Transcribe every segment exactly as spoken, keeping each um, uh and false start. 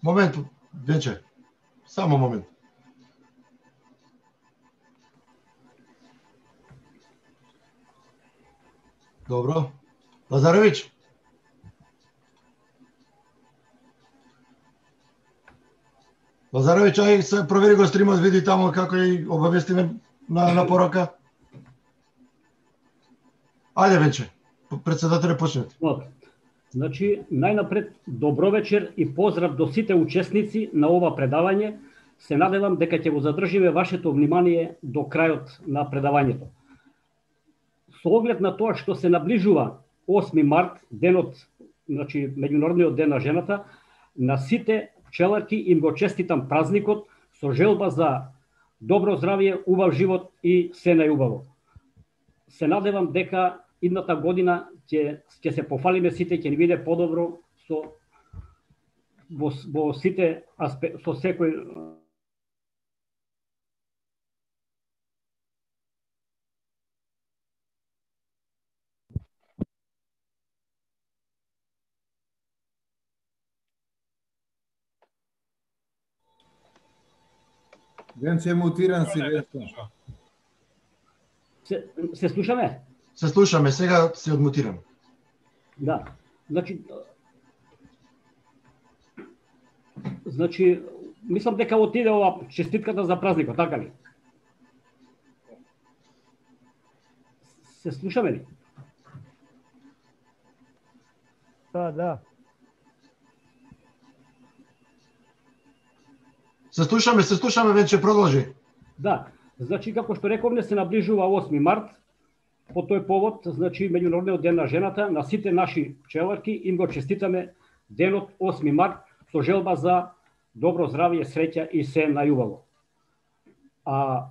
Момент, Венче. Само момент. Добро. Лазарович. Лазарович, ај се провери го стримот, види тамо како и обавестиме на, на порака. Ајде, Венче, председателе, почнете. Значи, најнапред, добро вечер и поздрав до сите учесници на ова предавање. Се надевам дека ќе го задржиме вашето внимание до крајот на предавањето. Со оглед на тоа што се наближува осми март, денот, значи меѓународниот ден на жената, на сите пчеларки им го честитам празникот со желба за добро здравје, убав живот и се најубаво. Се надевам дека идната година ќе ќе се пофалиме сите, ќе ни биде подобро со во, во сите аспект, со секој Венче мутиран си, Венче. Се, се слушаме? Се слушаме, сега се одмутирам. Да. Значи Значи мислам дека отиде ова честитката за празникот, така ли? Се слушаме ли? Да, да. Се слушаме, се слушаме, Венче, продолжи. Да, значи како што рековме, се наближува осми март. По тој повод, значи меѓународниот ден на жената, на сите наши пчеларки им го честитаме денот осми март со желба за добро здравје, среќа и се најубаво. А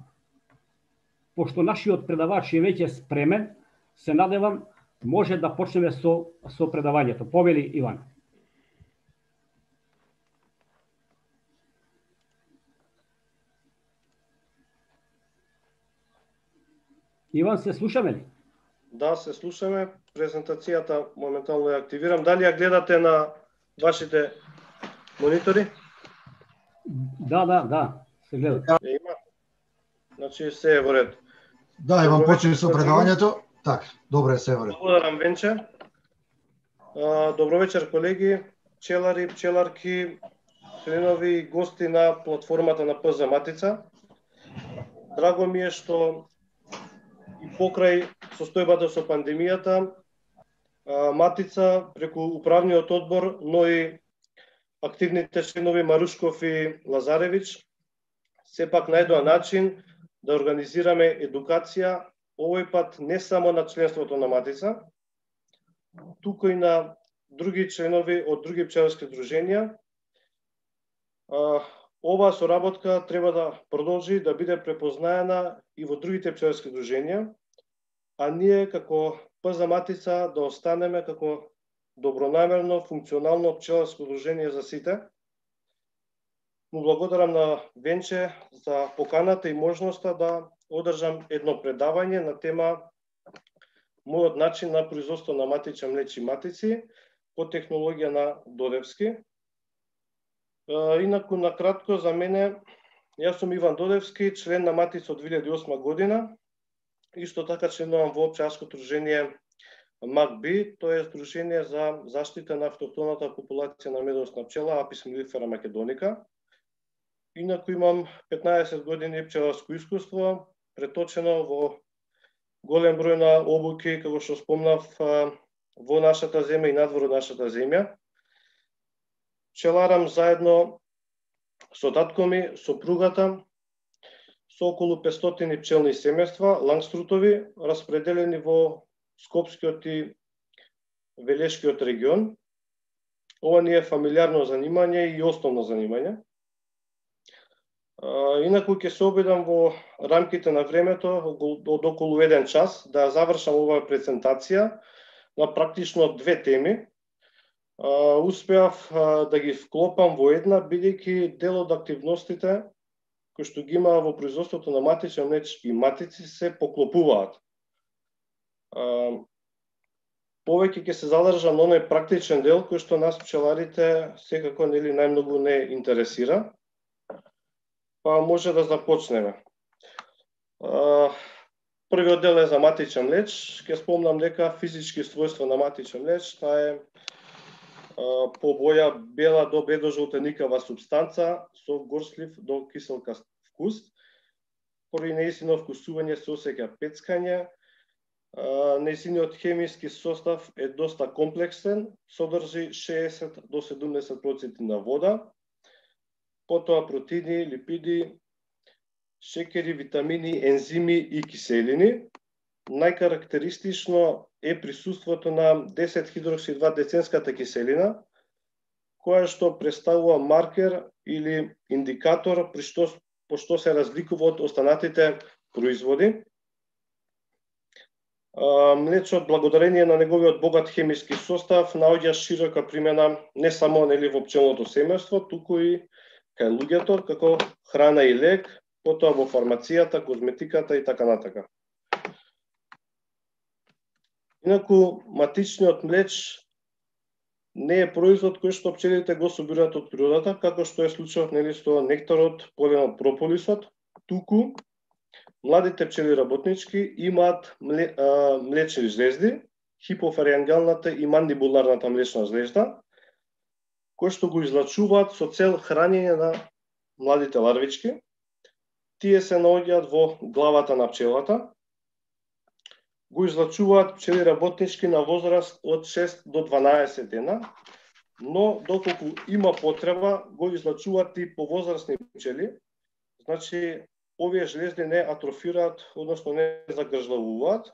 пошто нашиот предавач е веќе спремен, се надевам може да почнеме со со предавањето. Повели Иван. Иван, се слушаме ли? Да, се слушаме. Презентацијата моментално ја активирам. Дали ја гледате на вашите монитори? Да, да, да, се гледа. Е, има. Значи се е во ред. Да, Иван, почни со предавањето. Така, добре, се е во ред. Благодарам, Венче. Добро вечер, колеги, пчелари, пчеларки, членови и гости на платформата на ПЗ Матица. Драго ми е што и покрај состојбата со пандемијата, Матица преку управниот одбор, но и активните членови Марушков и Лазаревич сепак најдоа начин да организираме едукација, овој пат не само на членството на Матица, туку и на други членови од други пчеларски друженија. Оваа соработка треба да продолжи да биде препознаена и во другите пчеларски друженија, а ние како ПЗ Матица да останеме како добронамерно, функционално пчеларско дружение за сите. Му благодарам на Венче за поканата и можноста да одржам едно предавање на тема мојот начин на производство на матични млечни матици по технологија на Додевски. Инаку, накратко за мене, јас сум Иван Додевски, член на Матица од две илјади и осма година, исто така членувам во пчеларско дружение МАКБИ, тоа е Сдружение за заштита на автохтоната популација на медоносна пчела Апис мелифера македоника. Инаку имам петнаесет години пчеларско искуство, преточено во голем број на обуки, како што спомнав, во нашата земја и надвор од нашата земја. Пчеларам заедно со татко ми, сопругата, со околу петстотини пчелни семејства, лангструтови, распределени во Скопскиот и Велешкиот регион. Ова ни е фамилиарно занимање и основно занимање. Инаку ќе се обидам во рамките на времето од околу еден час да завршам оваа презентација на практично две теми. Успеав да ги вклопам во една, бидејќи дел од активностите кои што ги има во производството на матични млечни матици се поклопуваат. повеќе ќе се задржам на оној практичен дел кој што нас пчеларите секако нели најмногу не интересира. Па може да започнеме. Првиот дел е за матичен млеч. Ќе спомнам дека физички својства на матичен млеч, таа е по боја бела до бледо-жолтеникава супстанца со горслив до киселкаст вкус. Поради нејзино вкусување се осеќа пецкање. Нејзиниот хемиски состав е доста комплексен, содржи шеесет до седумдесет проценти на вода, потоа протеини, липиди, шекери, витамини, ензими и киселини. Најкарактеристично е присуството на десет хидрокси два деценската киселина, која што представува маркер или индикатор при што, по што се разликува од останатите производи. Млечот, благодарение на неговиот богат хемиски состав, наоѓа широка примена не само нели во пчелното семејство, туку и кај луѓето како храна и лек, потоа во фармацијата, козметиката и така натака. Инаку матичниот млеч не е производ кој што пчелите го собираат од природата, како што е случајот нели со нектарот, поленот, прополисот, туку младите пчели работнички имаат млечни жлезди, хипофариангалната и мандибуларната млечна жлезда, кои што го излачуваат со цел хранење на младите ларвички. Тие се наоѓаат во главата на пчелата. Го излачуваат пчели работнички на возраст од шест до дванаесет дена, но доколку има потреба, го излачуваат и повозрастни пчели. Значи, овие жлезди не атрофираат, односно не загржлавуваат.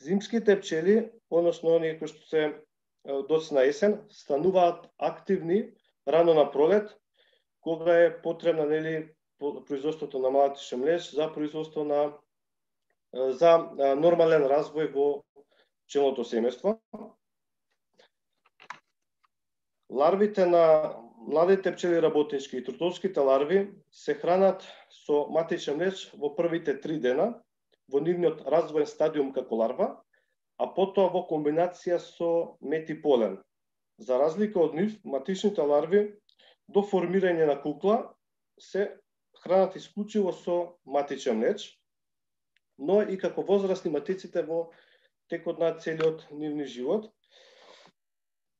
Зимските пчели, односно оние кои што се доцна есен, стануваат активни рано на пролет, кога е потребна нели производството на матичен млеч за производство на за нормален развој во пчелното семејство. Ларвите на младите пчели работнички и трутовските ларви се хранат со матичен млеч во првите три дена во нивниот развоен стадиум како ларва, а потоа во комбинација со мед и полен. За разлика од нив, матичните ларви до формирање на кукла се хранат исклучиво со матичен млеч, но и како возрастни матиците во текот на целиот нивни живот.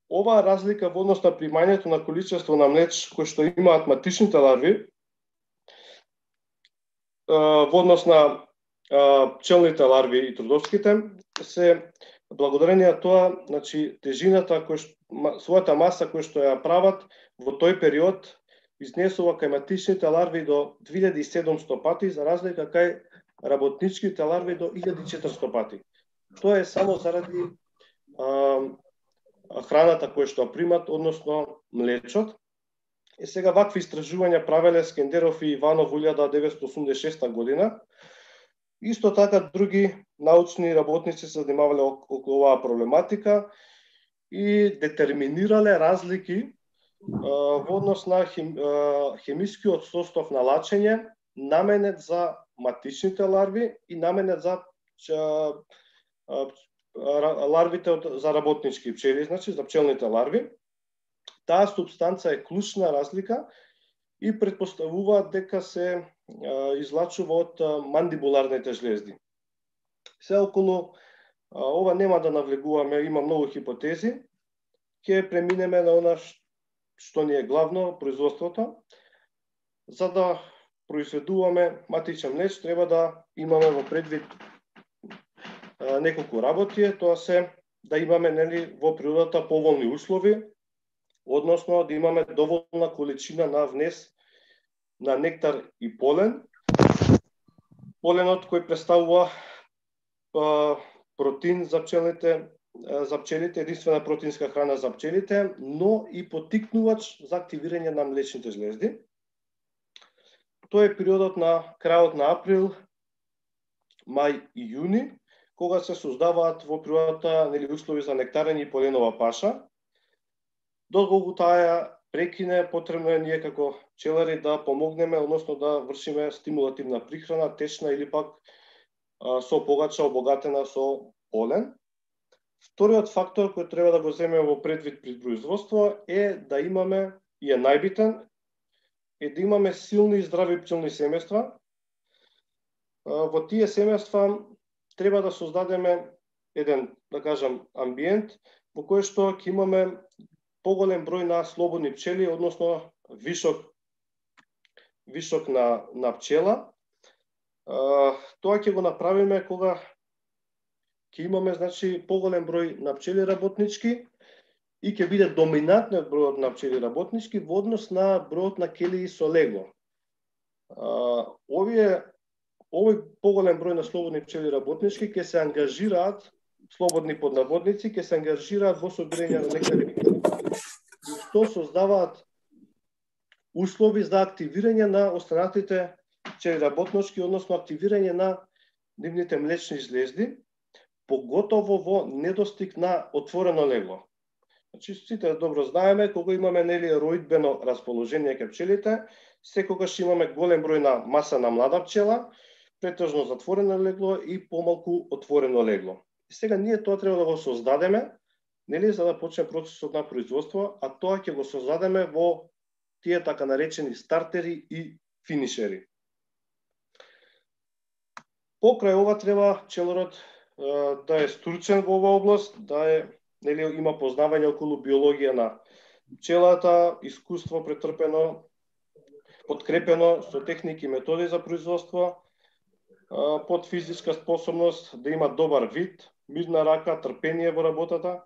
Оваа разлика во однос на примањето на количество на млеч кој што имаат матичните ларви во однос на пчелните ларви и трудовските се благодарение на тоа, значи тежината кој што, својата маса која што ја прават во тој период изнесува кај матичните ларви до две илјади и седумстотини пати, за разлика кај работничките ларви до илјада и четиристотини пати. Тоа е само заради а, храната која што примат, односно млечот. И сега вакви истражувања правеле Скендеров и Иванов во илјада деветстотини осумдесет и шеста година. Исто така други научни работници се занимавале околу оваа проблематика и детерминирале разлики а, во однос на хим, а, хемискиот состав на лачење наменет за матичните ларви и наменет за а, а, ларвите од, за работнички пчели, значи за пчелните ларви. Таа субстанца е клучна разлика и претпоставуваат дека се а, излачува од а, мандибуларните жлезди. Се околу а, ова нема да навлегуваме, има многу хипотези. Ќе преминеме на она што ни е главно, производството. За да произведуваме матичен млеч, треба да имаме во предвид а, неколку работи, тоа се да имаме нели во природата поволни услови, односно да имаме доволна количина на внес на нектар и полен. Поленот кој представува а, протеин за пчелите, а, за пчелите, единствена протеинска храна за пчелите, но и поттикнувач за активирање на млечните жлезди. Тоа е периодот на крајот на април, мај и јуни, кога се создаваат во природата нели услови за нектарење и поленова паша. Доколку таа прекине, потребно е ние како пчелари да помогнеме, односно да вршиме стимулативна прихрана, течна или пак а, со погача обогатена со полен. Вториот фактор кој треба да го земеме во предвид при производство е да имаме, и е најбитен, е да имаме силни и здрави пчелни семејства. Во тие семејства треба да создадеме еден, да кажам, амбиент во кој што ќе имаме поголем број на слободни пчели, односно вишок вишок на на пчела. Тоа ќе го направиме кога ќе имаме, значи, поголем број на пчели работнички и ќе биде доминантниот бројот на пчели работнички во однос на бројот на келии со легло. Овие овој поголем број на слободни пчели работнички ќе се ангажираат, слободни поднаводници, ќе се ангажираат во собирање на нектари, што создаваат услови за активирање на останатите пчели работнички, односно активирање на нивните млечни жлезди, поготово во недостиг на отворено легло. Значи, сите добро знаеме, кога имаме, нели, роидбено расположение кај пчелите, секогаш имаме голем број на маса на млада пчела, претежно затворено легло и помалку отворено легло. И сега ние тоа треба да го создадеме, нели, за да почне процесот на производство, а тоа ќе го создадеме во тие така наречени стартери и финишери. Покрај ова треба пчеларот да е стручен во оваа област, да е, нели, има познавање околу биологија на пчелата, искуство претрпено, подкрепено со техники и методи за производство, под физичка способност, да има добар вид, мирна рака, трпение во работата,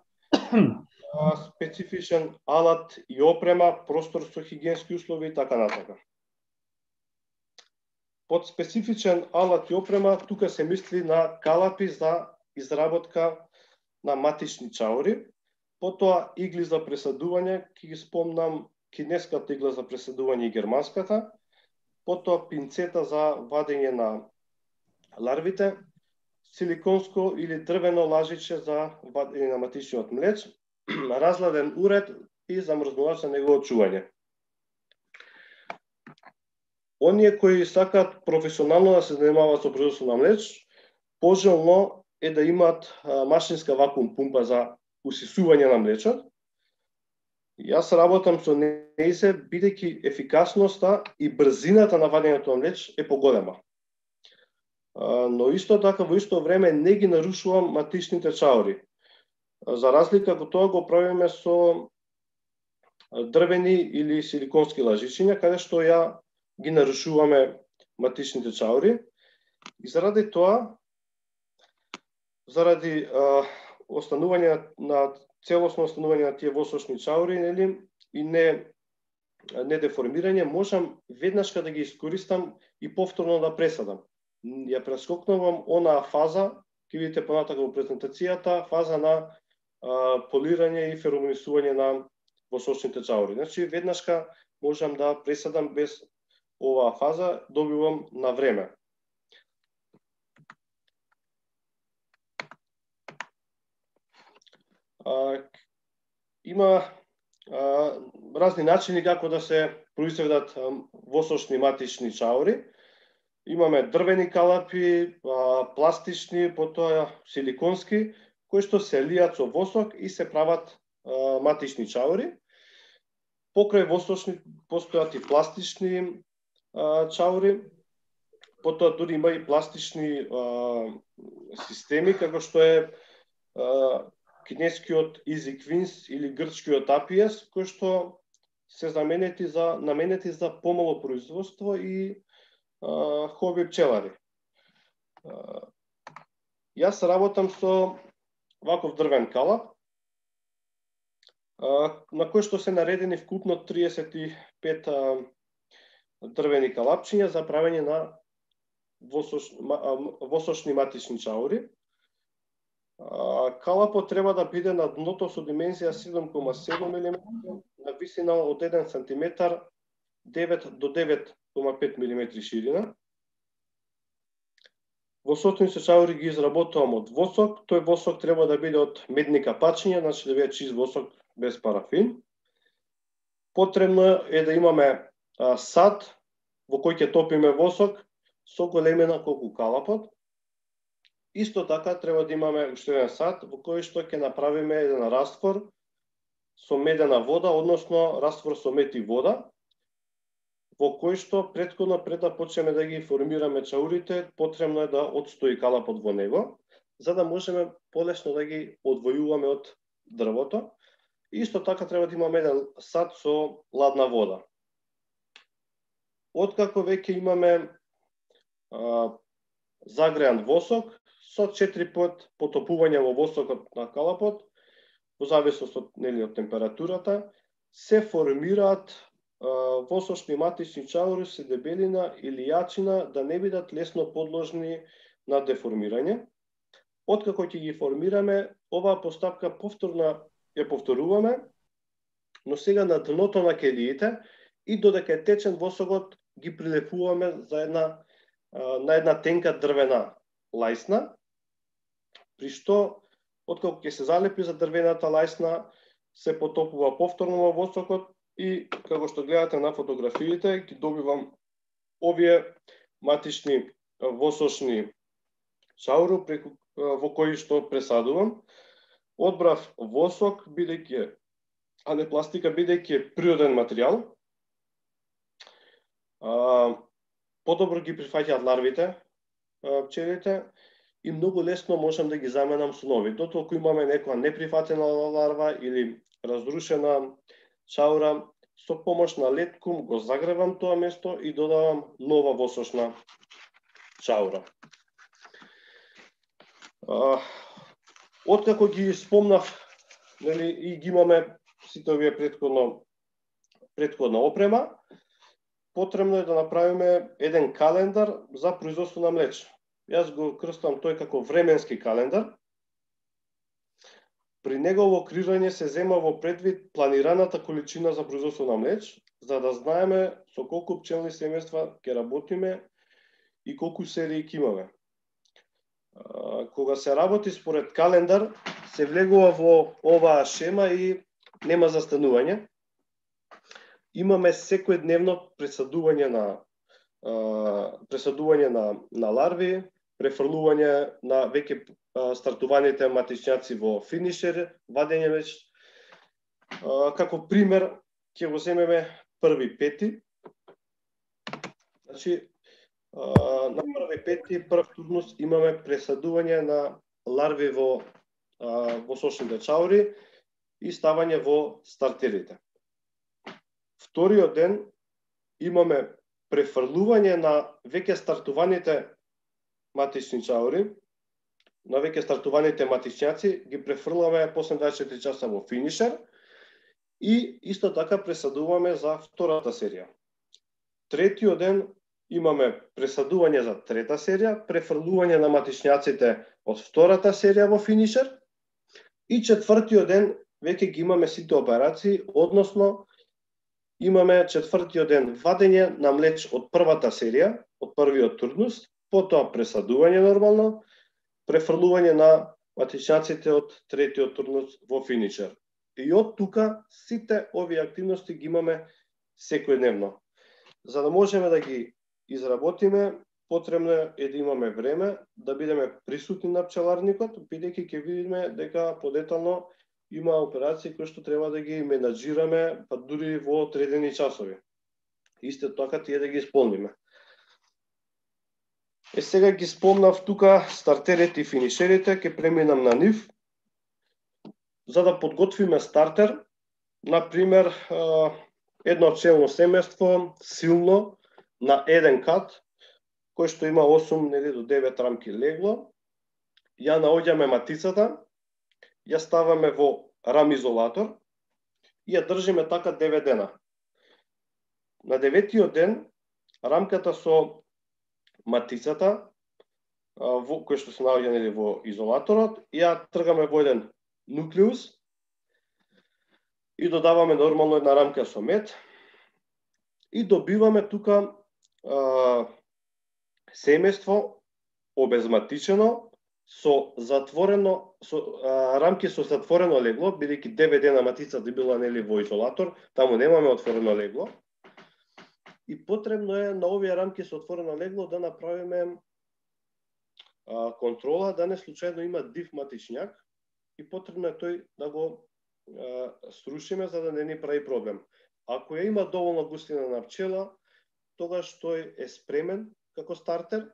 специфичен алат и опрема, простор со хигиенски услови и така натака. Под специфичен алат и опрема, тука се мисли на калапи за изработка на матични чаури, потоа игли за пресадување, ќе ги спомнам кинеската игла за пресадување и германската, потоа пинцета за вадење на ларвите, силиконско или дрвено лажиче за вадење на матичниот млеч, разладен уред и замрзнувач за негово чување. Оние кои сакаат професионално да се занимаваат со производство на млеч, пожелно е да имаат машинска вакуум пумпа за усисување на млечот. Јас работам со нејзе, бидејќи ефикасноста и брзината на вадењето на млеч е поголема. Но исто така во исто време не ги нарушувам матичните чаури. За разлика од тоа го правиме со дрвени или силиконски лажичиња, каде што ја ги нарушуваме матичните чаури. И заради тоа, заради а, останување на целосно останување на тие восочни чаури, нели, и не не деформирање, можам веднашка да ги искористам и повторно да пресадам. Ја прескокнувам онаа фаза, ќе видите понатака во презентацијата, фаза на а, полирање и феромонисување на восочните чаури. Значи, веднашка можам да пресадам без оваа фаза, добивам на време. А, има а, разни начини како да се произведат восочни матични чаури. Имаме дрвени калапи, а, пластични, потоа силиконски, кои што се лијат со восок и се прават а, матични чаури. Покрај восочни постојат и пластични а, чаури, потоа дури има и пластични а, системи, како што е а, кинескиот Easy Queens или грчкиот Apies, кои што се заменети за, наменети за помало производство и а, хоби пчелари. А, јас работам со ваков дрвен калап, а, на кој што се наредени вкупно триесет и пет а, дрвени калапчиња за правење на восоч, а, восочни матични чаури. Калапот треба да биде на дното со димензија седум кома седум милиметри, на висина од еден сантиметар, девет до девет кома пет милиметри ширина. Восочните чаури ги изработувам од восок, тој восок треба да биде од медни капачиња, значи да биде чист восок без парафин. Потребно е да имаме а, сад во кој ќе топиме восок со големина колку калапот. Исто така треба да имаме уште еден сат во кој што ќе направиме еден раствор со медена вода, односно раствор со мед и вода, во кој што претходно пред да почнеме да ги формираме чаурите, потребно е да отстои калапот во него, за да можеме полесно да ги одвојуваме од дрвото. Исто така треба да имаме еден сат со ладна вода. Откако веќе имаме а, загреан восок, со четири пат потопување во восокот на калапот, во зависност од, нели, од температурата, се формираат а, восочни матични чаури со дебелина или јачина да не бидат лесно подложни на деформирање. Откако ќе ги формираме, оваа постапка повторно ја повторуваме, но сега на дното на келиите и додека е течен восокот ги прилепуваме за една, а, на една тенка дрвена лајсна, при што, откако ќе се залепи за дрвената лајсна, се потопува повторно во восокот и, како што гледате на фотографиите, ги добивам овие матични восочни чауру преку, во кои што пресадувам. Одбрав восок, бидејќи, а не пластика, бидејќи е природен материјал. А, подобро ги прифаќаат ларвите, пчелите, и многу лесно можам да ги заменам со нови. Дотолку имаме некоја неприфатена ларва или разрушена чаура, со помош на леткум го загревам тоа место и додавам нова восочна чаура. А, откако ги спомнав, нели, и ги имаме сите овие претходно претходна опрема, потребно е да направиме еден календар за производство на млече. Јас го крстам тој како временски календар. При негово креирање се зема во предвид планираната количина за производство на млеч, за да знаеме со колку пчелни семејства ќе работиме и колку серии ќе имаме. Кога се работи според календар, се влегува во оваа шема и нема застанување. Имаме секојдневно пресадување на пресадување на, на ларви, префрлување на веќе стартуваните матичњаци во финишер, вадење меч. Како пример, ќе го земеме први пети. Значи, на први пети, прв турнус, имаме пресадување на ларви во восочните чаури и ставање во стартерите. Вториот ден имаме префрлување на веќе стартуваните матични чаури, на веќе стартуваните матичњаци, ги префрламе после дваесет и четири часа во финишер и исто така пресадуваме за втората серија. Третиот ден имаме пресадување за трета серија, префрлување на матичњаците од втората серија во финишер и четвртиот ден веќе ги имаме сите операции, односно имаме четвртиот ден вадење на млеч од првата серија, од првиот турнус, потоа пресадување нормално, префрлување на матичњаците од третиот турнус во финишер. И од тука сите овие активности ги имаме секојдневно. За да можеме да ги изработиме, потребно е да имаме време, да бидеме присутни на пчеларникот, бидејќи ќе видиме дека подетално има операции кои што треба да ги менаџираме, па дури во одредени часови. Исто така тие да ги исполниме. Е, сега ги спомнав тука стартерите и финишерите, ќе преминам на нив. За да подготвиме стартер, например, едно пчелно семејство, силно, на еден кат, кој што има осум до девет рамки легло, ја наоѓаме матицата, ја ставаме во рамизолатор и ја држиме така девет дена. На деветиот ден, рамката со матицата, во, кој што се наоѓа нели во изолаторот, ја тргаме во еден нуклеус и додаваме нормално една рамка со мед и добиваме тука а, семејство обезматичено со затворено со а, рамки со затворено легло, бидејќи девет дена матицата била нели во изолатор, таму немаме отворено легло. И потребно е на овие рамки со отворено легло да направиме а, контрола да не случајно има див матичњак и потребно е тој да го а, срушиме за да не ни прави проблем. Ако ја има доволно густина на пчела, тогаш тој е спремен како стартер.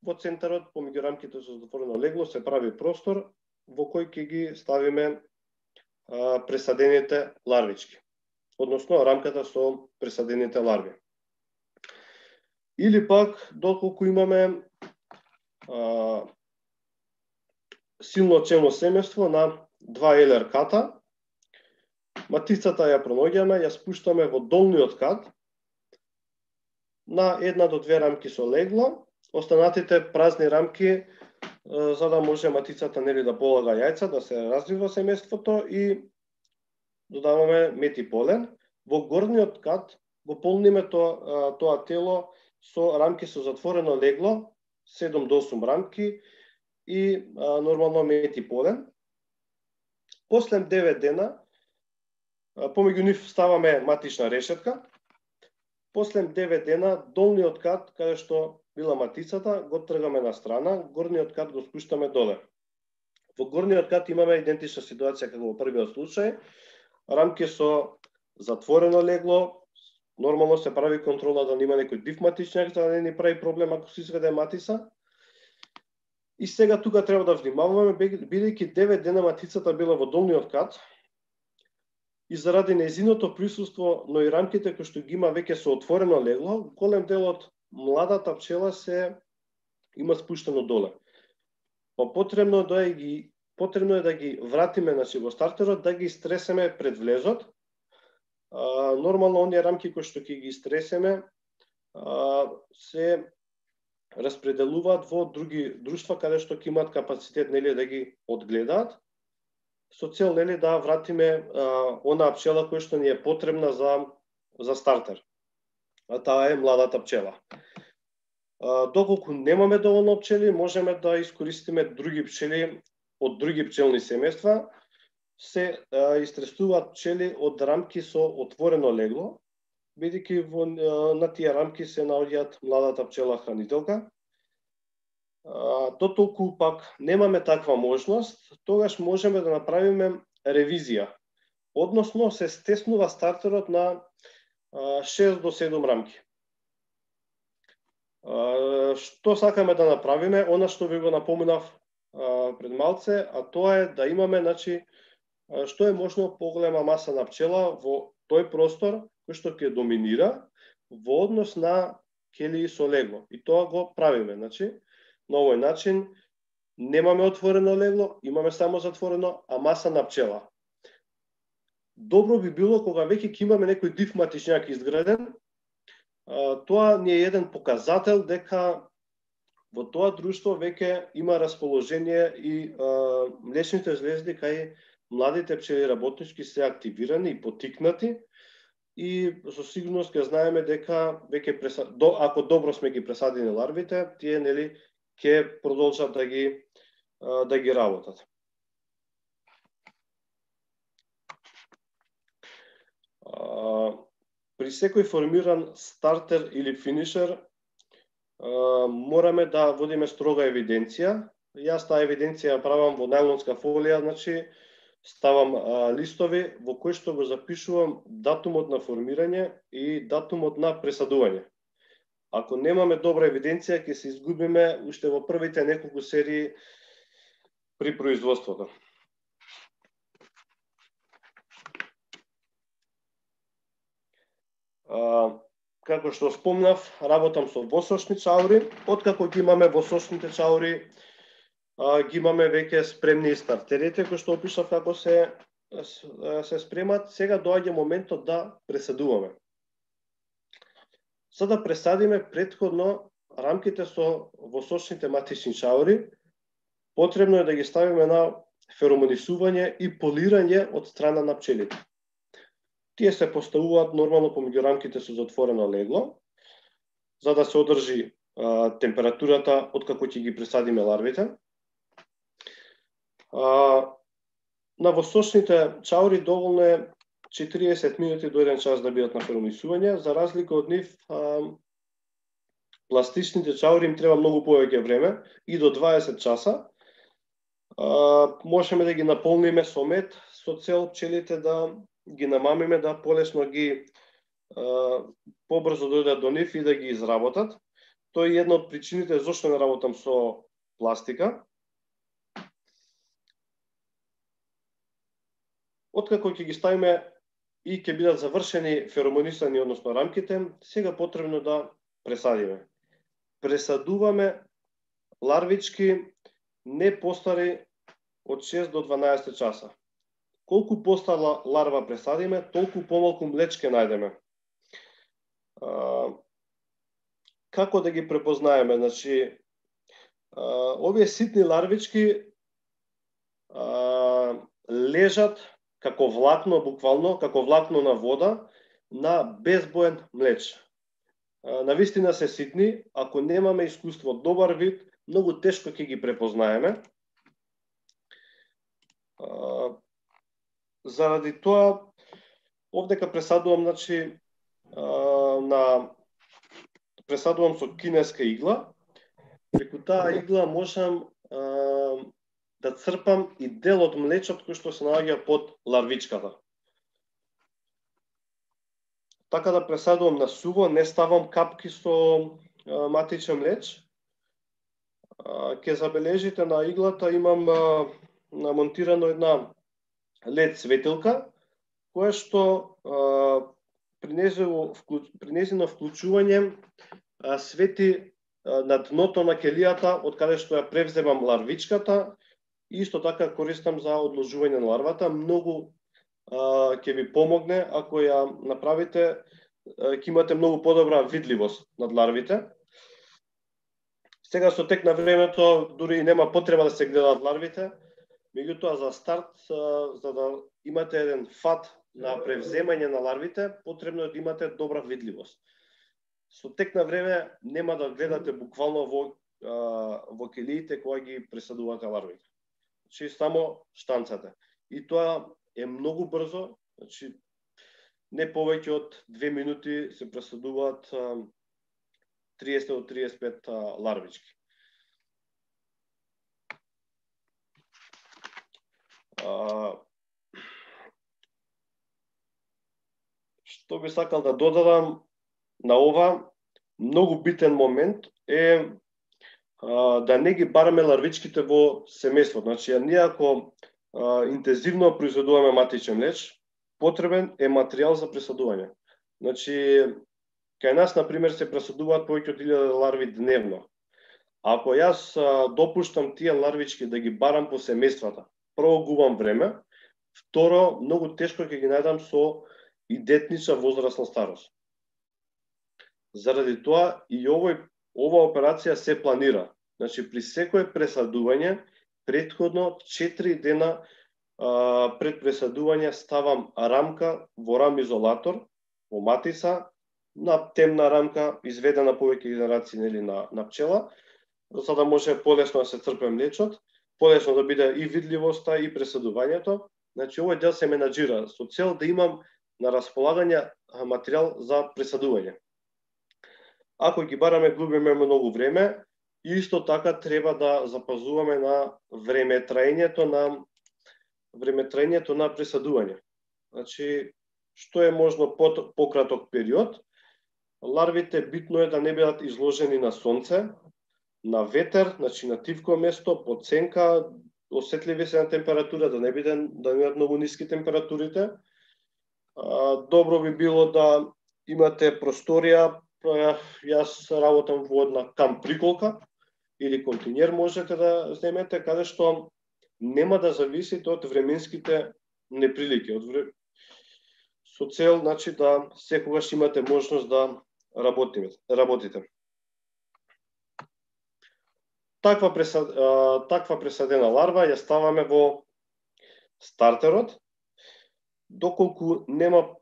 Во центарот, помеѓу рамките со затворено легло, се прави простор во кој ќе ги ставиме а, пресадените ларвички, односно рамката со пресадените ларви. Или пак, доколку имаме а, силно челно семејство на два елер ката, матицата ја пронаоѓаме, ја спуштаме во долниот кат на една до две рамки со легло, останатите празни рамки за да може матицата нели да полага јајца, да се развива семејството и додаваме мед и полен. Во горниот кат го полниме тоа, тоа тело со рамки со затворено легло, седум до осум рамки и а, нормално мед и полен. После девет дена, помеѓу нив ставаме матична решетка. После девет дена, долниот кат, каде што била матицата, го тргаме на страна, горниот кат го спуштаме доле. Во горниот кат имаме идентична ситуација како во првиот случај. Рамки со затворено легло, нормално се прави контрола да нема некој див матичњак, за да не ни прави проблем ако се изведе матица. И сега тука треба да внимаваме, бидејќи девет дена матицата била во долниот кат, и заради нејзиното присуство, но и рамките кои што ги има веќе со отворено легло, голем дел од младата пчела се има спуштено доле. Па потребно да ги потребно е да ги вратиме значи во стартерот, да ги стресеме пред влезот. А, нормално оние рамки кои што ќе ги стресеме а, се распределуваат во други друштва каде што ќе имаат капацитет нели да ги одгледаат, со цел нели да вратиме а, онаа пчела која што ни е потребна за за стартер. А таа е младата пчела. А, доколку немаме доволно пчели, можеме да искористиме други пчели од други пчелни семејства. Се а, истресуваат пчели од рамки со отворено легло, бидејќи во на тие рамки се наоѓаат младата пчела хранителка. А, дотолку пак немаме таква можност, тогаш можеме да направиме ревизија. Односно се стеснува стартерот на а, шест до седум рамки. А, што сакаме да направиме? Она што ви го напомнав а, пред малце, а тоа е да имаме, значи, што е можно поголема маса на пчела во тој простор кој што ќе доминира во однос на келии со легло. И тоа го правиме, значи, на овој начин немаме отворено легло, имаме само затворено, а маса на пчела. Добро би било кога веќе ќе имаме некој див матичњак изграден, тоа ни е еден показател дека во тоа друштво веќе има расположение и а, млечните жлезди кај младите пчели работнички се активирани и потикнати и со сигурност ќе знаеме дека веќе преса... до, ако добро сме ги пресадени ларвите, тие нели ќе продолжат да ги да ги работат. А, при секој формиран стартер или финишер а, мораме да водиме строга евиденција. Јас таа евиденција ја правам во најлонска фолија, значи ставам а, листови во кои што го запишувам датумот на формирање и датумот на пресадување. Ако немаме добра евиденција, ќе се изгубиме уште во првите неколку серии при производството. А, како што спомнав, работам со восочни чаури. Откако ги имаме восочните чаури, а, ги имаме веќе спремни стартерите, кои што опишав како се, се спремат. Сега доаѓа моментот да пресадуваме. За да пресадиме претходно рамките со восочните матични чаури, потребно е да ги ставиме на феромонисување и полирање од страна на пчелите. Тие се поставуваат нормално помеѓу рамките со затворено легло, за да се одржи а, температурата откако ќе ги пресадиме ларвите. А, на восочните чаури доволно е четириесет минути до еден час да бидат на феромонисување, за разлика од нив а, пластичните чаури им треба многу повеќе време, и до дваесет часа. А, можеме да ги наполниме со мед, со цел пчелите да ги намамиме, да полесно ги а, побрзо дојдат до нив и да ги изработат. Тоа е една од причините зашто не работам со пластика. Откако ќе ги ставиме и ќе бидат завршени феромонисани, односно рамките, сега потребно да пресадиме. Пресадуваме ларвички не постари од шест до дванаесет часа. Колку постара ларва пресадиме, толку помалку млечке најдеме. А, како да ги препознаеме? Значи, а, овие ситни ларвички а, лежат како влакно, буквално, како влакно на вода, на безбоен млеч. Навистина се ситни, ако немаме искуство, добар вид, многу тешко ќе ги препознаеме. Заради тоа, овдека пресадувам, значи, на пресадувам со кинеска игла. Преку таа игла можам да црпам и дел од млечот кој што се наоѓа под ларвичката. Така да пресадувам на суво, не ставам капки со а, матичен млеч. А, ке забележите на иглата имам а, намонтирано една лед светилка, која што а, при незино вклучување а, свети а, на дното на келијата, од каде што ја превземам ларвичката, и исто така користам за одложување на ларвата. Многу ќе ви помогне ако ја направите, ќе имате многу подобра видливост над ларвите. Сега со тек на времето дури нема потреба да се гледаат ларвите, меѓутоа за старт, за да имате еден фат на превземање на ларвите, потребно е да имате добра видливост. Со тек на време нема да гледате буквално во во келиите кога ги пресадувате ларвите. Значи само штанцате. И тоа е многу брзо, значи не повеќе од две минути се пресадуваат триесет до триесет и пет ларвички. А, што би сакал да додадам на ова, многу битен момент е а, да не ги бараме ларвичките во семејство. Значи, ние ако а, интензивно произведуваме матичен млеч, потребен е материјал за пресадување. Значи, кај нас, например, се пресадуваат повеќе од илјада ларви дневно. Ако јас а, допуштам тие ларвички да ги барам по семејствата, прво губам време, второ, многу тешко ќе ги најдам со идентична возрастна старост. Заради тоа и овој, ова операција се планира. Значи, при секое пресадување, претходно четири дена а, пред пресадување ставам рамка во рамизолатор, во матица, на темна рамка, изведена повеќе генерации нели, на, на пчела, за да може полесно да се црпе млечот, полесно да биде и видливоста и пресадувањето. Значи, овој дел се менаџира со цел да имам на располагање материјал за пресадување. Ако ги бараме, губиме многу време, и исто така треба да запазуваме на времетраењето на времетраењето на пресадување. Значи, што е можно под пократок период, ларвите битно е да не бидат изложени на сонце, на ветер, значи на тивко место, под сенка, осетливи се на температура, да не биде да не бидат многу ниски температурите. А, добро би било да имате просторија. Јас работам во една камп приколка или континер можете да земете, каде што нема да зависите од временските неприлики, од вре... со цел, значи, да секогаш имате можност да работите. работите. Таква, пресад... таква пресадена ларва ја ставаме во стартерот. Доколку нема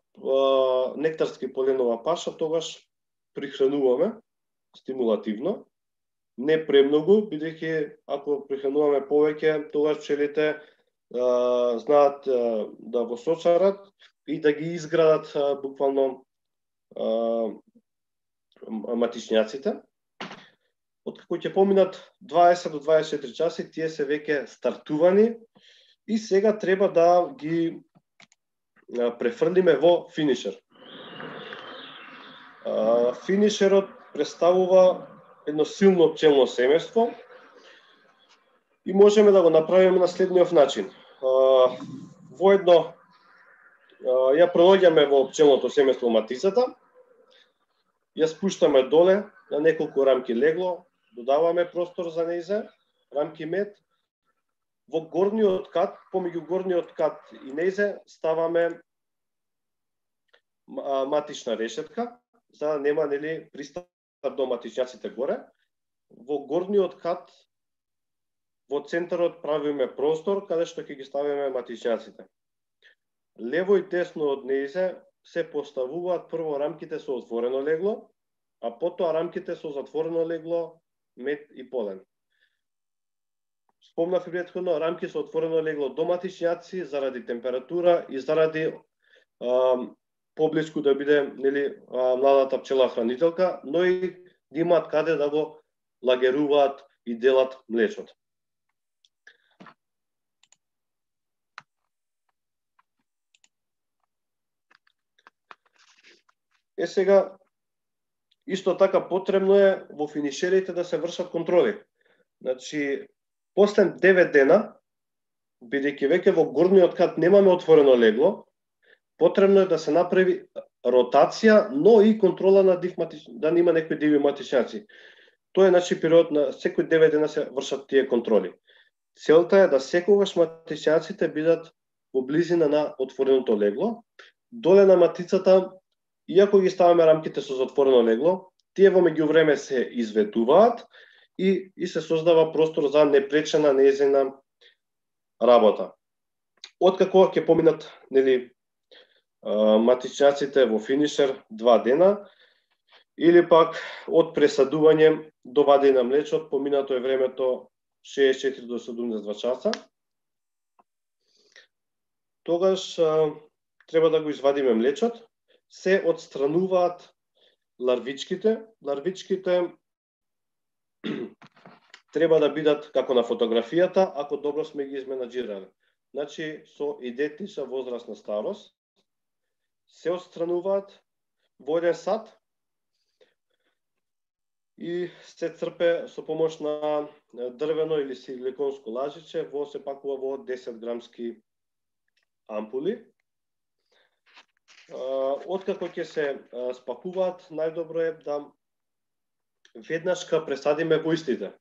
нектарски поленова паша, тогаш прихрануваме стимулативно, не премногу, бидејќи ако прихрануваме повеќе, тогаш пчелите а, знаат а, да го сочарат и да ги изградат а, буквално а, матичњаците. Откако ќе поминат дваесет до дваесет и четири часи, тие се веќе стартувани и сега треба да ги префрлиме во финишер. Финишерот представува едно силно пчелно семејство и можеме да го направиме на следниот начин. Воедно ја пронаѓаме во пчелното семејство матицата, ја спуштаме доле на неколку рамки легло, додаваме простор за нејзе, рамки мед. Во горниот кат, помеѓу горниот кат и нејзе, ставаме матична решетка, за да нема, нели, пристап до матичњаците горе. Во горниот кат, во центарот правиме простор каде што ќе ги ставиме матичњаците. Лево и десно од нејзе се поставуваат прво рамките со отворено легло, а потоа рамките со затворено легло, мед и полен. Спомнав и претходно, рамки со отворено легло до матичњаци заради температура и заради а, поблиску да биде, нели, а, младата пчела хранителка, но и да имаат каде да го лагеруваат и делат млечото. Е сега, исто така потребно е во финишерите да се вршат контроли. Значи, после девет дена, бидејќи веќе во горниот кат немаме отворено легло, потребно е да се направи ротација, но и контрола на див матич... да нема некои диви матичњаци. Тоа е, значи, период на секој девет дена се вршат тие контроли. Целта е да секогаш матичњаците бидат во близина на отвореното легло. Доле на матицата, иако ги ставаме рамките со затворено легло, тие во меѓувреме се изведуваат и, и се создава простор за непречена нејзина работа. Откако ќе поминат, нели, матичњаците во финишер два дена, или пак од пресадување до вадење на млечот, поминато е времето шеесет и четири до седумдесет и два часа, тогаш а, треба да го извадиме млечот, се отстрануваат ларвичките. Ларвичките треба да бидат како на фотографијата, ако добро сме ги изменаџирали. Значи, со идентична возрастна старост, се отстрануваат во еден сат и се црпе со помош на дрвено или силиконско лажиче, во се пакува во десет грамски ампули. Откако ќе се спакуваат, најдобро е да веднашка пресадиме во истите.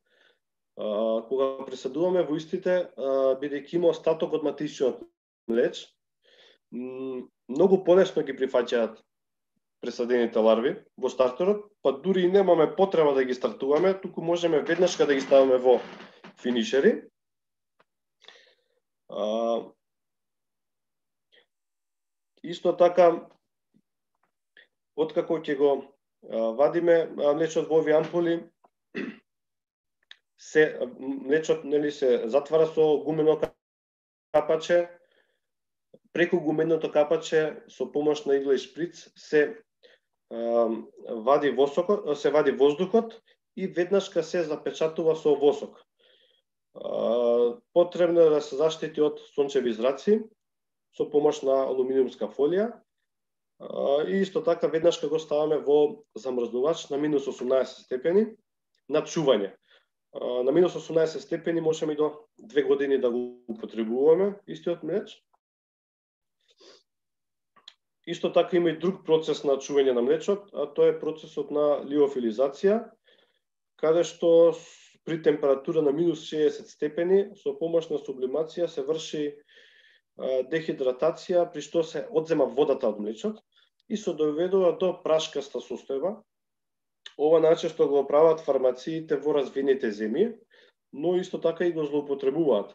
Кога пресадуваме во истите, бидејќи има остаток од матичниот млеч, многу полесно ги прифаќаат пресадените ларви во стартерот, па дури и немаме потреба да ги стартуваме, туку можеме веднашка да ги ставаме во финишери. Исто така, откако ќе го вадиме млечот во овие ампули, се млечот, нели, се затвара со гумено капаче. Преку гуменото капаче со помош на игла и шприц се вади восокот, се вади воздухот и веднашка се запечатува со восок. Потребно е да се заштити од сончеви зраци со помош на алуминиумска фолија. И исто така веднашка го ставаме во замрзнувач на минус осумнаесет степени на чување. На минус осумнаесет степени можеме и до две години да го употребуваме истиот млеч. Исто така има и друг процес на чување на млечот, а тоа е процесот на лиофилизација, каде што при температура на минус шеесет степени со помош на сублимација се врши дехидратација, при што се одзема водата од млечот и се доведува до прашкаста состојба. Ова најчесто го прават фармациите во развиените земји, но исто така и го злоупотребуваат.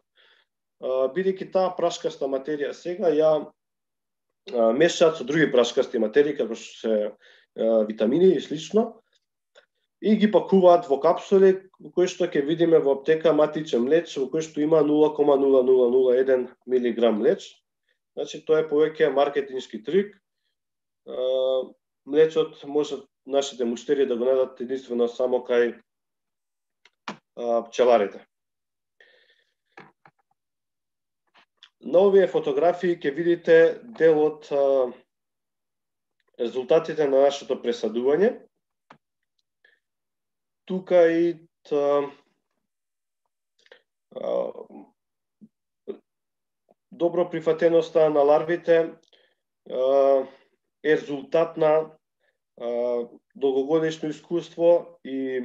Бидејќи таа прашкаста материја сега ја мешаат со други прашкасти материи, како што се витамини и слично, и ги пакуваат во капсули, кои што ќе видиме во аптека матичен млеч, во кој што има нула кома нула нула нула еден милиграм млеч. Значи, тоа е повеќе маркетиншки трик. Млечот може нашите муштери да го најдат единствено само кај пчеларите. На овие фотографии ќе видите дел од резултатите на нашето пресадување. Тука и та, а, добро прифатеноста на ларвите а, е резултат на а, долгогодишно искуство и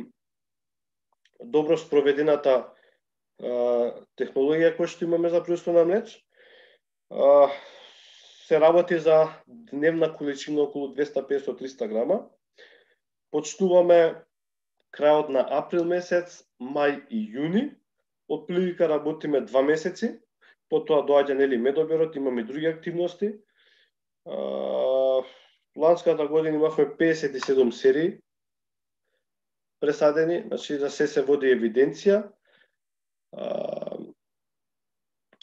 добро спроведената а, технологија која што имаме за производство на млеч. А, се работи за дневна количина околу двеста песет до триста грама. Почнуваме крајот на април месец, мај и јуни. Од прилика работиме два месеци. Потоа доаѓа нели медоберот, имаме и други активности. А, ланската година имавме песет и седум серии пресадени, значи за се се води евиденција. А,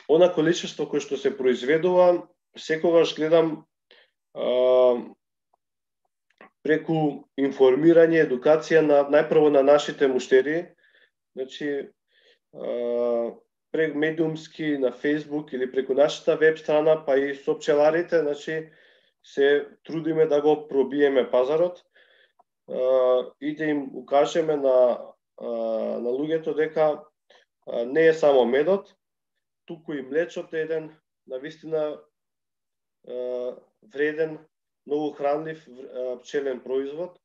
она количество кој што се произведува, секогаш гледам а, преку информирање, едукација на најпрво на нашите муштери, значи а, прек медиумски на Facebook или преку нашата веб страна, па и со пчеларите, значи се трудиме да го пробиеме пазарот а, и да им укажеме на а, на луѓето дека а, не е само медот, туку и млечот е еден навистина а, вреден, многу хранлив а, пчелен производ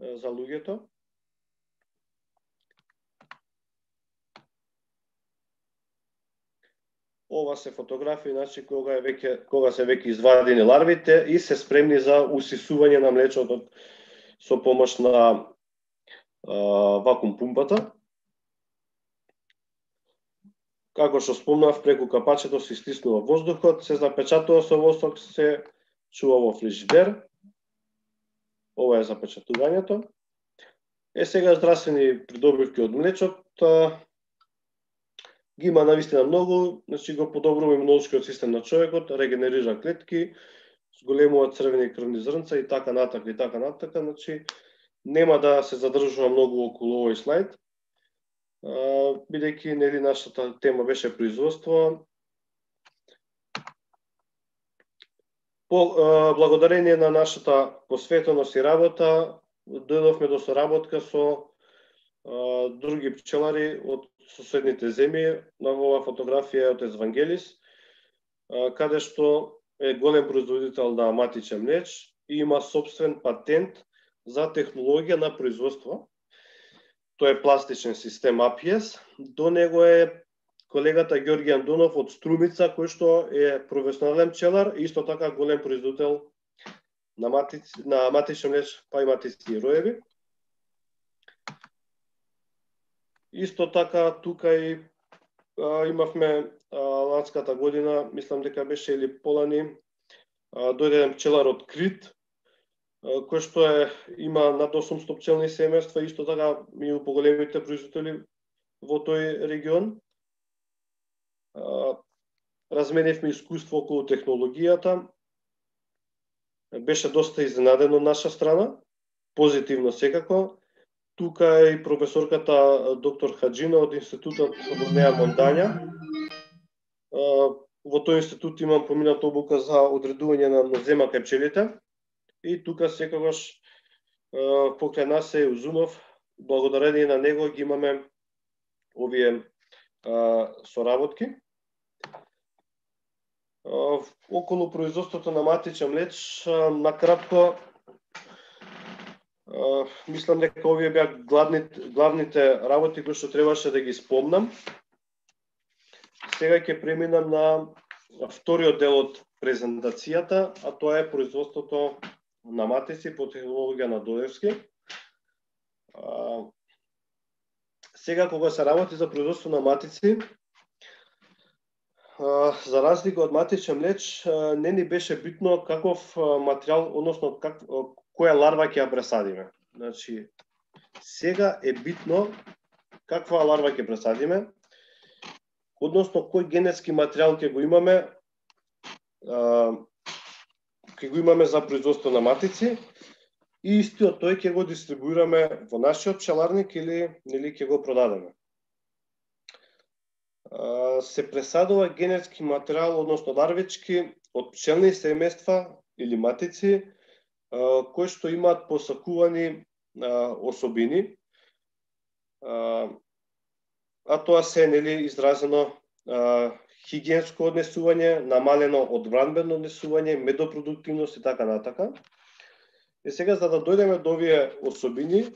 а, за луѓето. Ова се фотографии, значи кога е веќе кога се веќе извадени ларвите и се спремни за усисување на млечото со помош на а, вакуум пумпата. Како што спомнав, преку капачето се стиснува воздухот, се запечатува со восок, се чува во фрижидер. Ова е запечатувањето. Е сега здравствени придобивки од млечот. Ги има навистина многу, значи го подобрува имунолошкиот систем на човекот, регенерира клетки, зголемува црвени крвни зрнца и така натака и така натака, значи нема да се задржува многу околу овој слайд, бидејќи нели нашата тема беше производство. По благодарение на нашата посветеност и работа, дојдовме до соработка со а, други пчелари од соседните земји. На оваа фотографија е од Евангелис, каде што е голем производител на матичен млеч и има собствен патент за технологија на производство. Тоа е пластичен систем А Пи Ес. До него е колегата Ѓорѓи Андонов од Струмица, кој што е професионален пчелар и исто така голем производител на матици, на матичен млеч, па и матици и роеви. Исто така тука и а, имавме а, ланската година, мислам дека беше или полани, а, дојде еден пчелар од Крит, а, кој што е има над осумстотини пчелни семејства, исто така меѓу поголемите производители во тој регион. А, разменивме искуство околу технологијата. Беше доста изненаден од наша страна, позитивно секако. Тука е и професорката доктор Хаджина од институтот во Неа Монтања. Во тој институт имам помината обука за одредување на нозема кај пчелите. И тука секогаш покрај нас е Узунов. Благодарение на него ги имаме овие соработки. Околу производството на матичен млеч, накратко, Uh, мислам дека овие беа главните, главните работи кои што требаше да ги спомнам. Сега ќе преминам на вториот дел од презентацијата, а тоа е производството на матици по технологија на Додевски. Uh, сега кога се работи за производство на матици, uh, за разлика од матичен млеч, uh, не ни беше битно каков uh, материјал, односно как која ларва ќе ја пресадиме. Значи, сега е битно каква ларва ќе пресадиме, односно кој генетски материјал ќе го имаме, а, ќе го имаме за производство на матици и истиот тој ќе го дистрибуираме во нашиот пчеларник или нели ќе го продадеме. се пресадува генетски материјал, односно ларвички од пчелни семејства или матици, кои што имаат посакувани особини, а тоа се нели изразено хигиенско однесување, намалено одбранбено однесување, медопродуктивност и така натака. И сега, за да дојдеме до овие особини,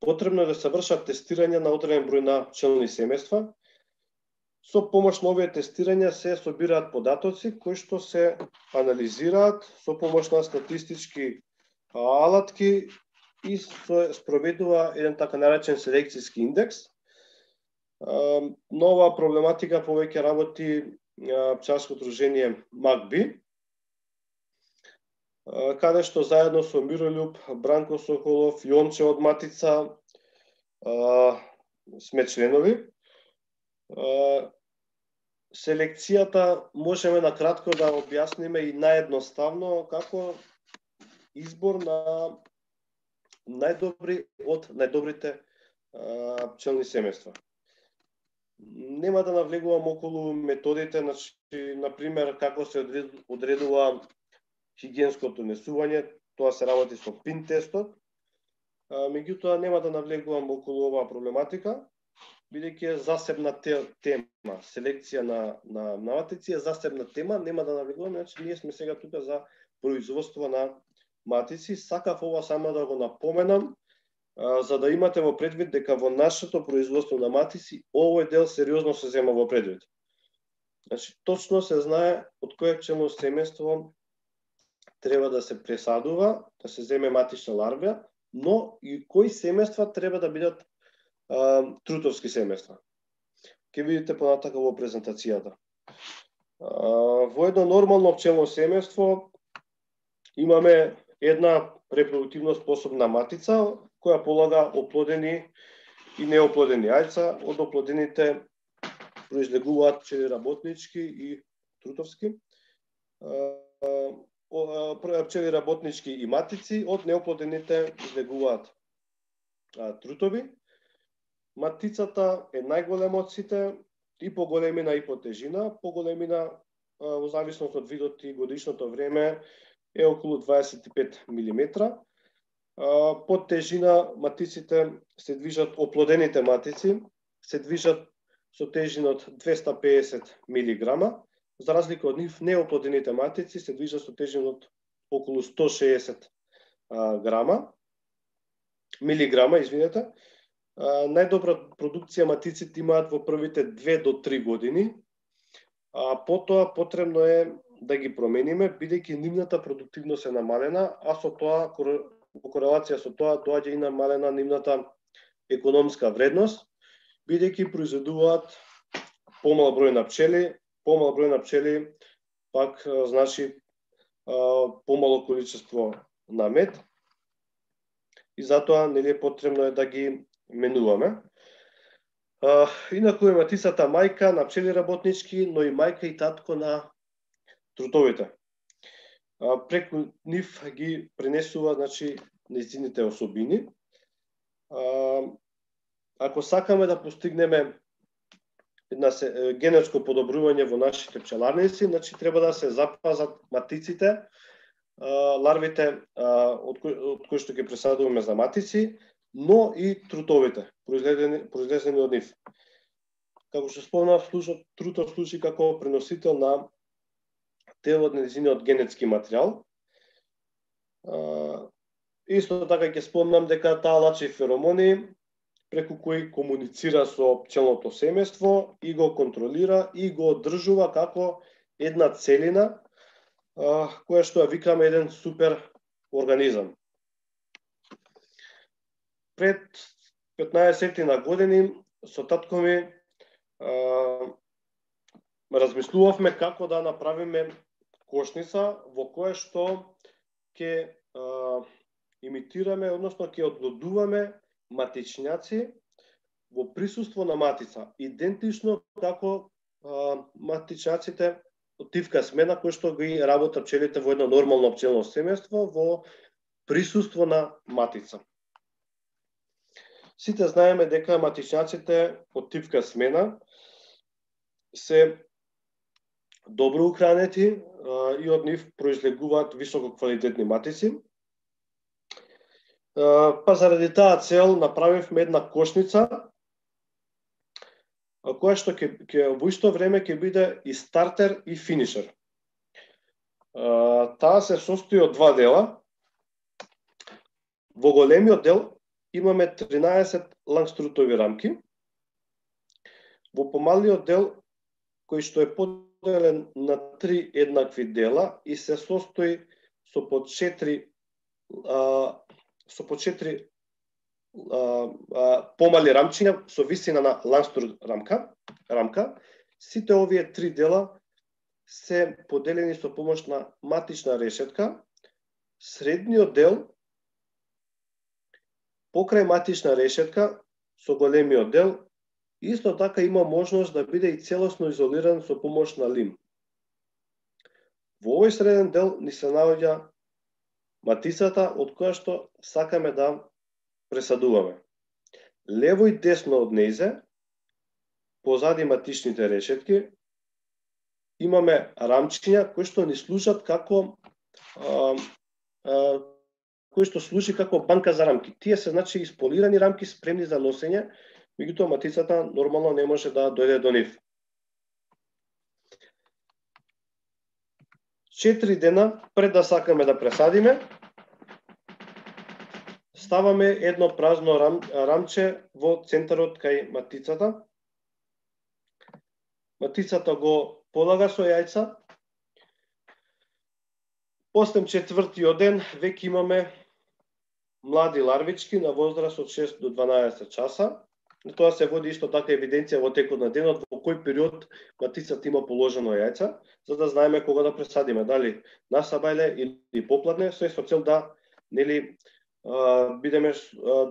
потребно е да се вршат тестирање на одреден број на пчелни семејства. Со помош на овие тестирања се собираат податоци кои што се анализираат со помош на статистички алатки и се спроведува еден така наречен селекцијски индекс. Нова проблематика повеќе работи пчеларско удружение МАКБИ, каде што заедно со Мирољуб, Бранко Соколов, Јонче од Матица сме членови. Селекцијата можеме на кратко да објасниме и наедноставно како избор на најдобри од најдобрите пчелни семејства. Нема да навлегувам околу методите, значи, например, како се одредува хигиенското однесување, тоа се работи со пин тестот. Меѓутоа, нема да навлегувам околу оваа проблематика, бидејќи е засебна тема. Селекција на, на, на матици е засебна тема, нема да навлегувам, значи ние сме сега тука за производство на матици. Сакав ова само да го напоменам, за да имате во предвид дека во нашето производство на матици овој дел сериозно се зема во предвид. Значи, точно се знае од кое пчелно семејство треба да се пресадува, да се земе матична ларва, но и кои семејства треба да бидат а, трутовски семејства. Ке видите понатака во презентацијата. А, во едно нормално пчелно семејство имаме една репродуктивно способна матица, која полага оплодени и неоплодени јајца. Од оплодените произлегуваат пчели работнички и трутовски. Пчели работнички и матици, од неоплодените излегуваат трутови. Матицата е најголема од сите, и по големина и по тежина. По големина, во зависност од видот и годишното време, е околу дваесет и пет милиметра. По тежина матиците се движат, оплодените матици се движат со тежина од двеста и педесет милиграма, за разлика од нив неоплодените матици се движат со тежина од околу сто и шеесет грама, милиграма, извинете. Најдобра продукција матиците имаат во првите две до три години, а потоа потребно е да ги промениме, бидејќи нивната продуктивност е намалена, а со тоа, во корелација со тоа, доаѓа и намалена нивната економска вредност, бидејќи произведуваат помал број на пчели, помал број на пчели пак значи помало количество на мед, и затоа нели е потребно е да ги менуваме. Инаку е матицата мајка на пчели работнички, но и мајка и татко на трутовите. Преку нив ги пренесува, значи, нејзините особини. Ако сакаме да постигнеме една генетско подобрување во нашите пчеларници, значи треба да се запазат матиците, ларвите од кои, од кои што ги пресадуваме за матици, но и трутовите, произлезени, произлезени од нив. Како што спомнав, трутов служи како преносител на дел од нејзиниот генетски материјал. Исто така ќе спомнам дека таа лачи феромони, преку кои комуницира со пчелното семејство и го контролира и го одржува како една целина, која што ја викаме еден супер организам. Пред петнаесет на години со татко ми размислувавме како да направиме кошница во која што ќе имитираме, односно ќе одлудуваме матичњаци во присуство на матица, идентично како матичњаците од тивка смена кои што ги работат пчелите во едно нормално пчелно семејство во присуство на матица. Сите знаеме дека матичњаците од типка смена се добро ухранети и од нив произлегуваат високо квалитетни матици. Па заради таа цел направивме една кошница која што ќе ќе во исто време ќе биде и стартер и финишер. Таа се состои од два дела. Во големиот дел имаме тринаесет лангструтови рамки. Во помалиот дел, кој што е поделен на три еднакви дела и се состои со по четири а, со по четири а, а, помали рамчиња со висина на лангструт рамка, рамка, сите овие три дела се поделени со помош на матична решетка. Средниот дел покрај матична решетка со големиот дел исто така има можност да биде и целосно изолиран со помош на лим. Во овој среден дел ни се наоѓа матицата од која што сакаме да пресадуваме. Лево и десно од нејзе, позади матичните решетки, имаме рамчиња кои што ни служат како а, а, кои што служи како банка за рамки. Тие се значи исполирани рамки спремни за носење, меѓутоа матицата нормално не може да дојде до нив. Четири дена пред да сакаме да пресадиме, ставаме едно празно рам, рамче во центарот кај матицата. Матицата го полага со јајца. После четвртиот ден веќе имаме млади ларвички на возраст од шест до дванаесет часа. Тоа се води исто така евиденција во текот на денот во кој период матицата има положено јајца, за да знаеме кога да пресадиме, дали на сабајле или попладне, се со цел да нели бидеме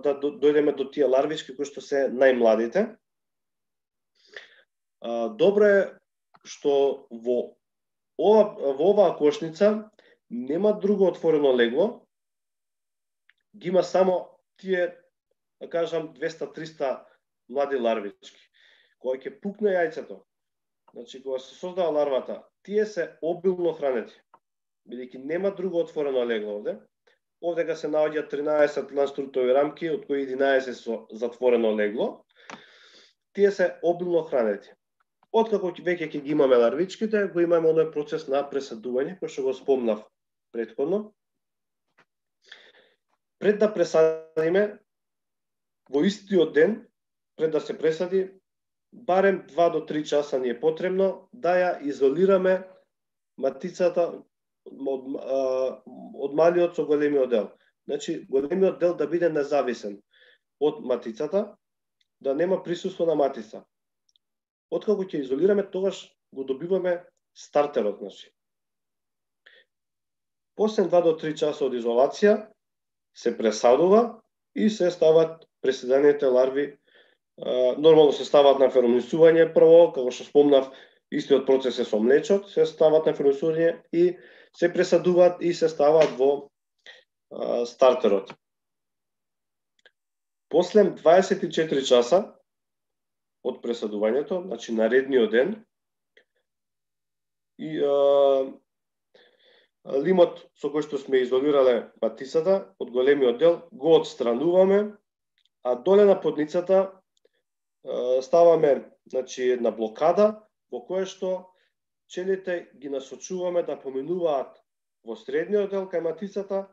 да дојдеме до тие ларвички кои што се најмладите. Добро е што во ова во оваа кошница нема друго отворено легло, ги има само тие, да кажам, двеста-триста млади ларвички. Кога ќе пукне јајцето, значи кога се создава ларвата, тие се обилно хранети, бидејќи нема друго отворено легло овде. Овде се наоѓа тринаесет лангструтови рамки, од кои единаесет со затворено легло. Тие се обилно хранети. Откако веќе ќе ги имаме ларвичките, го имаме оној процес на пресадување, кој што го спомнав претходно. Пред да пресадиме, во истиот ден, пред да се пресади, барем два до три часа ни е потребно да ја изолираме матицата од, од малиот со големиот дел. Значи, големиот дел да биде независен од матицата, да нема присуство на матица. Откако ќе изолираме, тогаш го добиваме стартерот, значи. После два до три часа од изолација се пресадува и се стават пресадените ларви. Нормално се стават на ферменисување прво, како што спомнав, истиот процес е со млечот, се стават на ферменисување и се пресадуваат и се стават во а, стартерот. После дваесет и четири часа од пресадувањето, значи наредниот ден, и а, лимот со кој што сме изолирале матицата од големиот дел го отстрануваме, а доле на подницата а, ставаме, значи, една блокада во која што пчелите ги насочуваме да поминуваат во средниот дел кај матицата,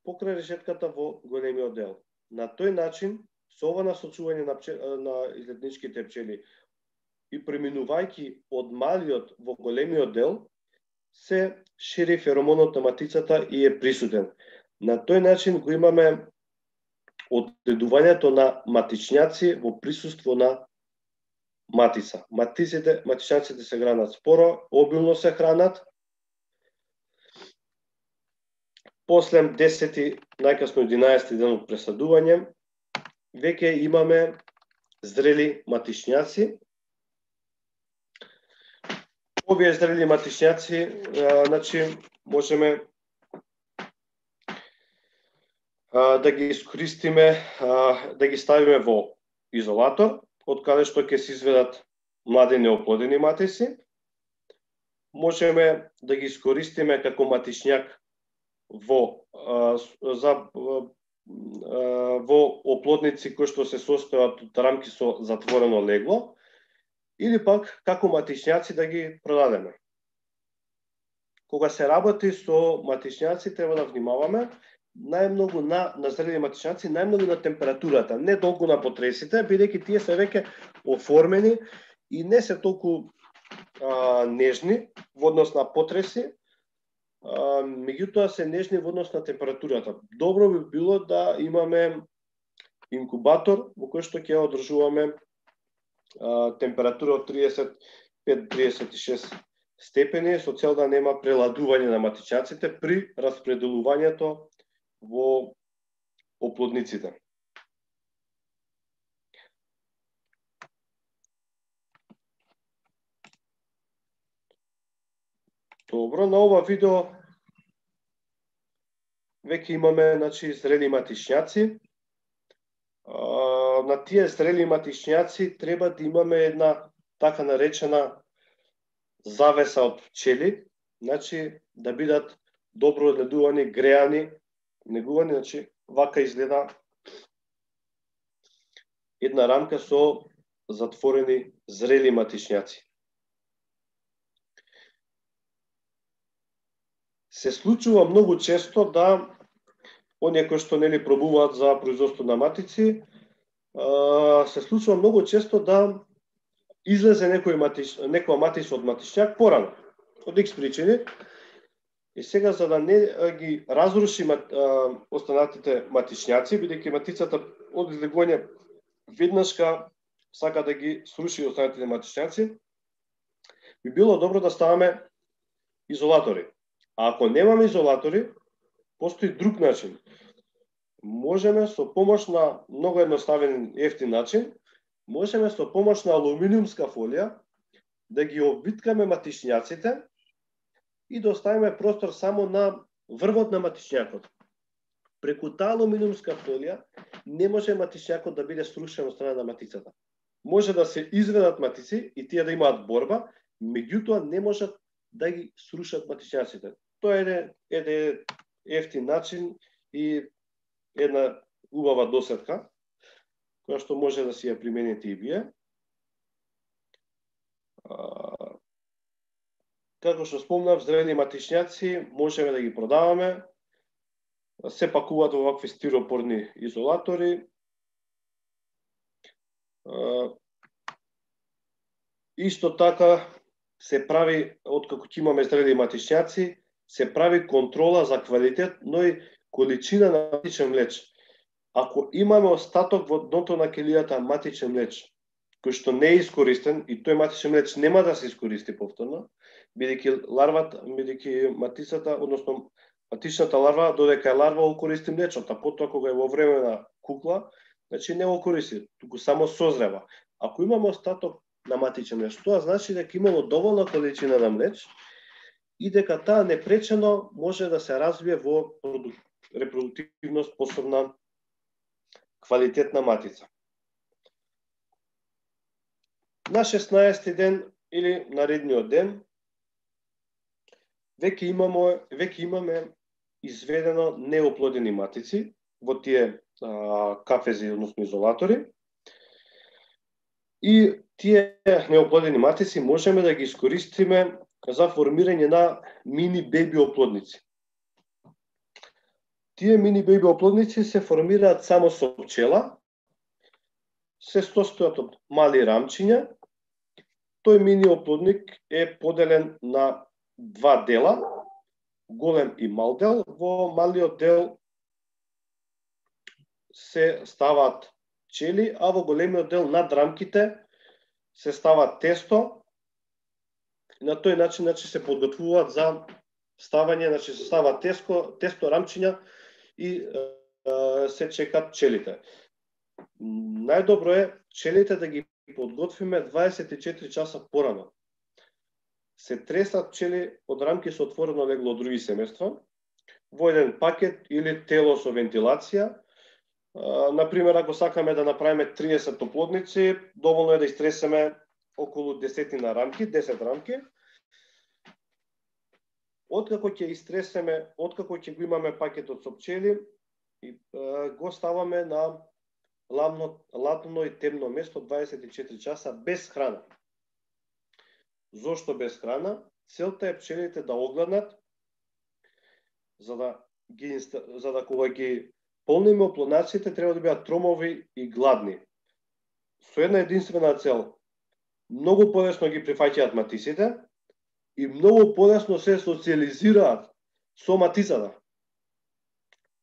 покрај решетката во големиот дел. На тој начин, со ова насочување на, пчел, на излетничките пчели и преминувајќи од малиот во големиот дел, се шири феромонот на матицата и е присутен. На тој начин го имаме одредувањето на матичњаци во присуство на матица. Матиците, матичњаците се хранат споро, обилно се хранат. После десети, најкасно единаесети ден од пресадување, веќе имаме зрели матичњаци. Овие зрели матичњаци, а, значи, можеме да ги искористиме, да ги ставиме во изолатор, од каде што ќе се изведат млади неоплодени матици. Можеме да ги искористиме како матичњак во за во оплодници кои што се состојат од рамки со затворено легло, или пак како матичњаци да ги продадеме. Кога се работи со матичњаци, треба да внимаваме најмногу на, на зрели матичњаци, најмногу на температурата, не толку на потресите, бидејќи тие се веќе оформени и не се толку а, нежни во однос на потреси, а, меѓутоа се нежни во однос на температурата. Добро би било да имаме инкубатор во кој што ќе одржуваме а, температура од триесет и пет до триесет и шест степени, со цел да нема преладување на матичњаците при распределувањето во оплодниците. Добро, на ова видео веќе имаме, значи, зрели матичњаци. На тие зрели матичњаци треба да имаме една така наречена завеса од пчели, значи да бидат добро одгледувани, греани, негувани, значи вака изгледа една рамка со затворени зрели матичњаци. Се случува многу често да оние кои што нели пробуваат за производство на матици, се случува многу често да излезе некој матич, некоја матица од матичњак порано, од икс причини. И сега, за да не ги разруши останатите матичњаци, бидејќи матицата од излегување веднашка сака да ги сруши останатите матичњаци, би било добро да ставаме изолатори. А ако немаме изолатори, постои друг начин. Можеме со помош на многу едноставен ефтин начин, можеме со помош на алуминиумска фолија да ги обвиткаме матичњаците и да оставиме простор само на врвот на матичњакот. Преку таа алуминиумска фолија не може матичњакот да биде срушен од страна на матицата. Може да се изведат матици и тие да имаат борба, меѓутоа не можат да ги срушат матичњаците. Тоа е еден ефтин начин и една убава досетка, која што може да си ја примените и вие. Како што спомнав, зрели матичњаци можеме да ги продаваме, се пакуваат во вакви стиропорни изолатори. Исто така се прави, откако ќе имаме зрели матичњаци, се прави контрола за квалитет, но и количина на матичен млеч. Ако имаме остаток во дното на келијата матичен млеч, кој што не е искористен, и тој матичен млеч нема да се искористи повторно, бидејќи ларвата, бидејќи матицата, односно матичната ларва, додека е ларва, го користи млечот, а потоа кога е во време на кукла, значи не го користи, туку само созрева. Ако имаме остаток на матичен млеч, тоа значи дека имало доволна количина на млеч и дека таа непречено може да се развие во репродуктивно способна квалитетна матица. На шеснаести ден или наредниот ден веќе имаме веќе имаме изведено неоплодени матици во тие а, кафези, односно изолатори. И тие неоплодени матици можеме да ги искористиме за формирање на мини беби оплодници. Тие мини беби оплодници се формираат само со пчела, се состојат од мали рамчиња. Тој мини оплодник е поделен на два дела, голем и мал дел. Во малиот дел се ставаат пчели, а во големиот дел над рамките се става тесто. На тој начин, значи, се подготвуваат за ставање, значи се става тесто, тесто рамчиња и е, се чекат пчелите. Најдобро е пчелите да ги подготвиме дваесет и четири часа порано. Се тресат пчели од рамки со отворено легло од други семејства. во еден пакет или тело со вентилација. Например, ако сакаме да направиме триесет оплодници, доволно е да истресеме околу десетина рамки, десет рамки. Откако ќе истресеме, откако ќе го имаме пакетот со пчели, го ставаме на ладно, ладно и темно место дваесет и четири часа без храна. Зошто без храна? Целта е пчелите да огладнат, за да ги за да кога ги полниме оплоднаците треба да бидат тромови и гладни. Со една единствена цел: многу полесно ги прифаќаат матисите и многу полесно се социализираат со матицата.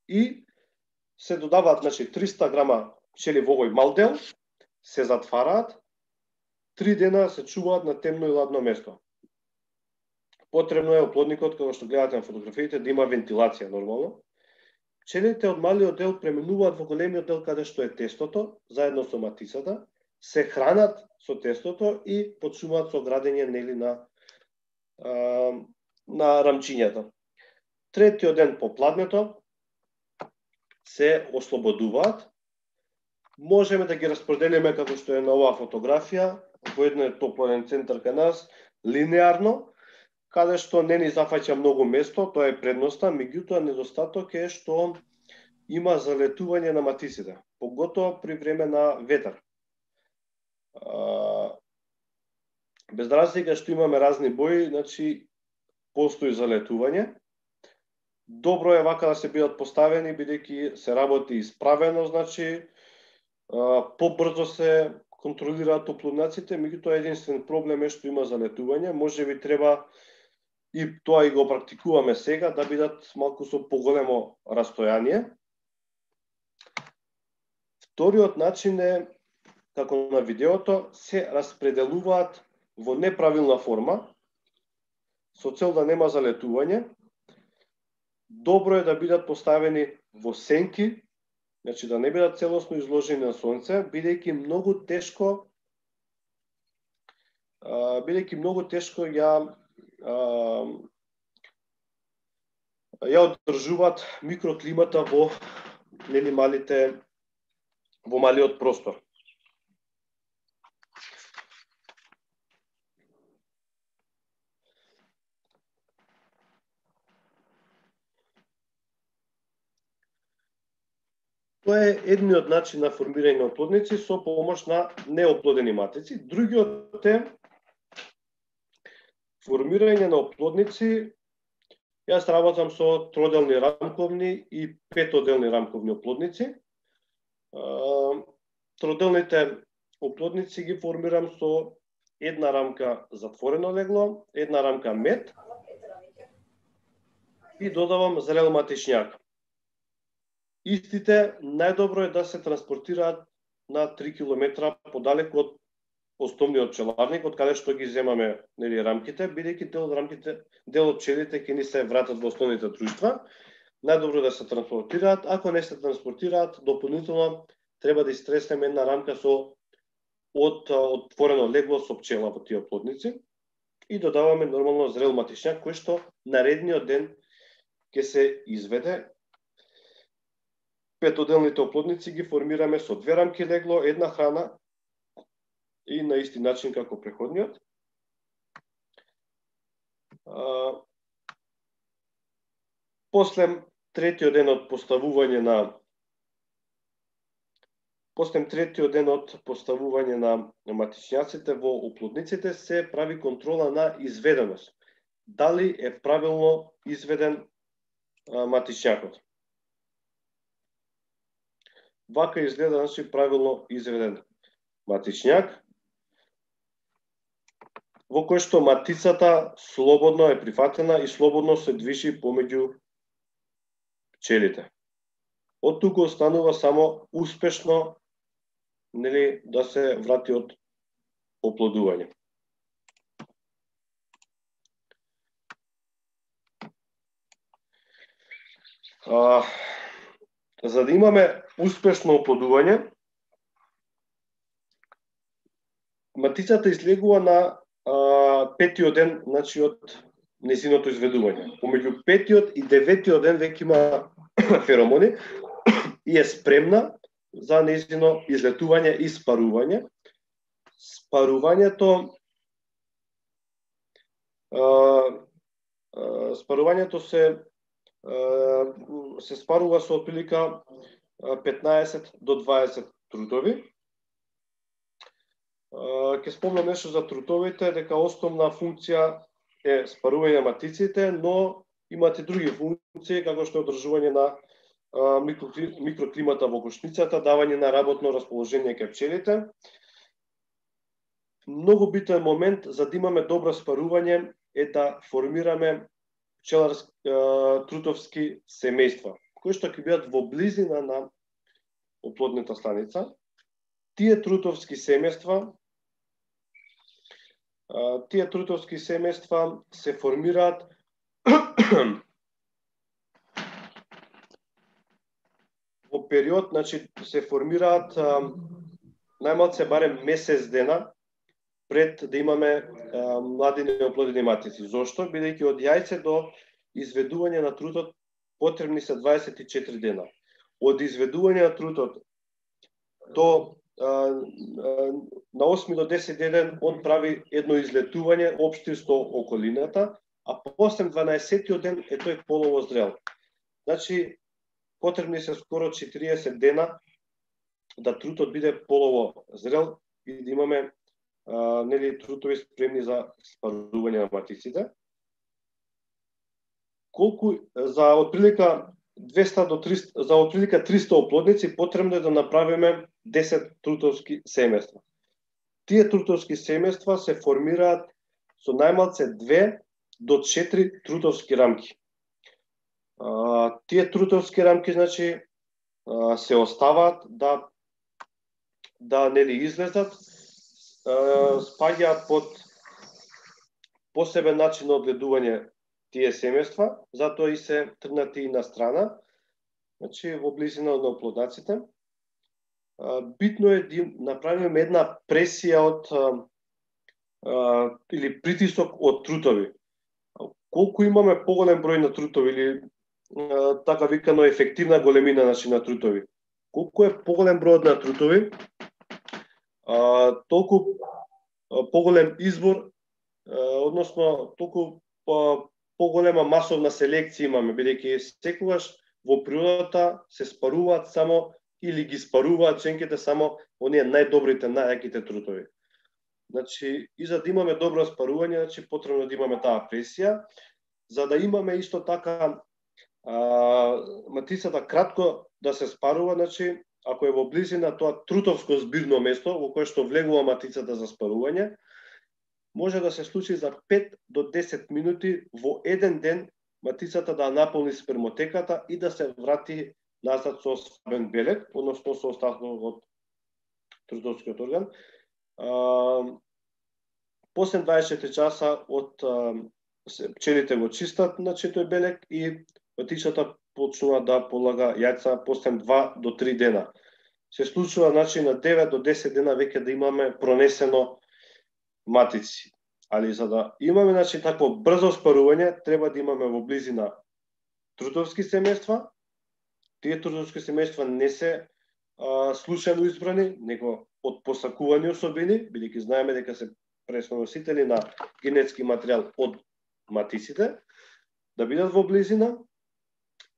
И се додаваат, значи, триста грама пчели во овој мал дел, се затвараат, три дена се чуваат на темно и ладно место. Потребно е оплодникот, како што гледате на фотографиите, да има вентилација нормално. Пчелите од малиот дел преминуваат во големиот дел каде што е тестото, заедно со матицата, се хранат со тестото и почнуваат со градење, нели, на а, на рамчињата. Третиот ден по пладнето се ослободуваат. Можеме да ги распределиме како што е на оваа фотографија, во еден топлоден центар кај нас, линеарно, каде што не ни зафаќа многу место, тоа е предноста, меѓутоа недостаток е што има залетување на матисите, поготово при време на ветар. Без разлика што имаме разни бои, значи постои залетување. Добро е вака да се бидат поставени, бидејќи се работи исправено, значи побрзо се контролираат оплоднаците, меѓутоа единствен проблем е што има залетување. Може би треба, и тоа и го практикуваме сега, да бидат малку со поголемо растојание. Вториот начин е, како на видеото, се распределуваат во неправилна форма, со цел да нема залетување. Добро е да бидат поставени во сенки, значи да не бидат целосно изложени на сонце, бидејќи многу тешко бидејќи многу тешко ја ја одржуваат микроклимата во нели малите во малиот простор. Тоа е едниот начин на формирање на оплодници со помош на неоплодени матици. Другиот е формирање на оплодници. Јас работам со троделни рамковни и петоделни рамковни оплодници. Троделните оплодници ги формирам со една рамка затворено легло, една рамка мед и додавам зрел матичњак. Истите најдобро е да се транспортираат на три километра подалеку од основниот пчеларник, од каде што ги земаме, нели, рамките, бидејќи дел од рамките, дел од пчелите ќе ни се вратат во основните друштва. Најдобро да се транспортираат. Ако не се транспортираат, дополнително треба да истреснеме една рамка со од отворено легло со пчела во тие оплодници и додаваме нормално зрел матичњак, кој што наредниот ден ќе се изведе. Петоделните оплодници ги формираме со две рамки легло, една храна и на исти начин како преходниот. После третиот ден од поставување на После третиот ден од поставување на матичњаците во оплодниците се прави контрола на изведеност. Дали е правилно изведен матичњакот. Вака изгледа, значи, правилно изведен матичњак, во кој што матицата слободно е прифатена и слободно се движи помеѓу пчелите. Од тука останува само успешно, нели, да се врати од оплодување. А, за да имаме успешно оплодување, матицата излегува на а, петиот ден, значи од незиното изведување. Помеѓу петиот и деветиот ден веќе има феромони и е спремна за незино излетување и спарување. Спарувањето а, а, спарувањето се а, се спарува со отприлика петнаесет до дваесет трутови. Ќе спомнам нешто за трутовите, дека основна функција е спарување на матиците, но имат и други функции, како што е одржување на микроклимата во кошницата, давање на работно расположение кај пчелите. Многу битен момент за да имаме добро спарување е да формираме пчеларски трутовски семејства, кои што ќе бидат во близина на оплодната станица. Тие трутовски семејства Тие трутовски семејства се формираат во период, значи се формираат најмалце барем месец дена пред да имаме а, млади неоплодени матици. Зошто? Бидејќи од јајце до изведување на трутот потребни се дваесет и четири дена. Од изведување на трутот до на осми до десети ден он прави едно излетување општи со околината, а после дванаесеттиот ден е тој полово зрел. Значи, потребни се скоро четириесет дена да трутот биде полово зрел и да имаме а, нели трутови спремни за спарување на матиците. Колку за отприлика двеста до триста, за отприлика триста оплодници потребно е да направиме десет трутовски семејства. Тие трутовски семејства се формираат со најмалце две до четири трутовски рамки. А, тие трутовски рамки, значи, а, се оставаат да да нели излезат, а, спаѓаат под посебен начин на одгледување тие семејства, затоа и се тргнати и на страна, значи во близина на оплоднаците. Битно е да направиме една пресија од а, или притисок од трутови. Колку имаме поголем број на трутови или а, така викано ефективна големина значи, на трутови. Колку е поголем бројот на трутови, а, толку а, поголем избор, а, односно толку а, поголема масовна селекција имаме, бидејќи секогаш во природата се спаруваат само или ги спаруваат женките само оние најдобрите, најаките трутови. Значи, и за да имаме добро спарување, значи потребно да имаме таа пресија, за да имаме исто така а, матицата кратко да се спарува, значи ако е во близина тоа трутовско збирно место во кое што влегува матицата за спарување, може да се случи за пет до десет минути во еден ден матицата да наполни спермотеката и да се врати назад со слабен белек, односно со остатокот од трутовскиот орган. А, после дваесет и четири часа од а, пчелите го чистат на тој белек и матицата почнува да полага јајца после два до три дена. Се случува значи на девет до десет дена веќе да имаме пронесено матици. Али за да имаме значи такво брзо спарување, треба да имаме во близина трутовски семејства. Тие трутовски семејства не се а, случајно избрани, него од посакувани особини, бидејќи знаеме дека се преносители на генетски материјал од матиците, да бидат во близина.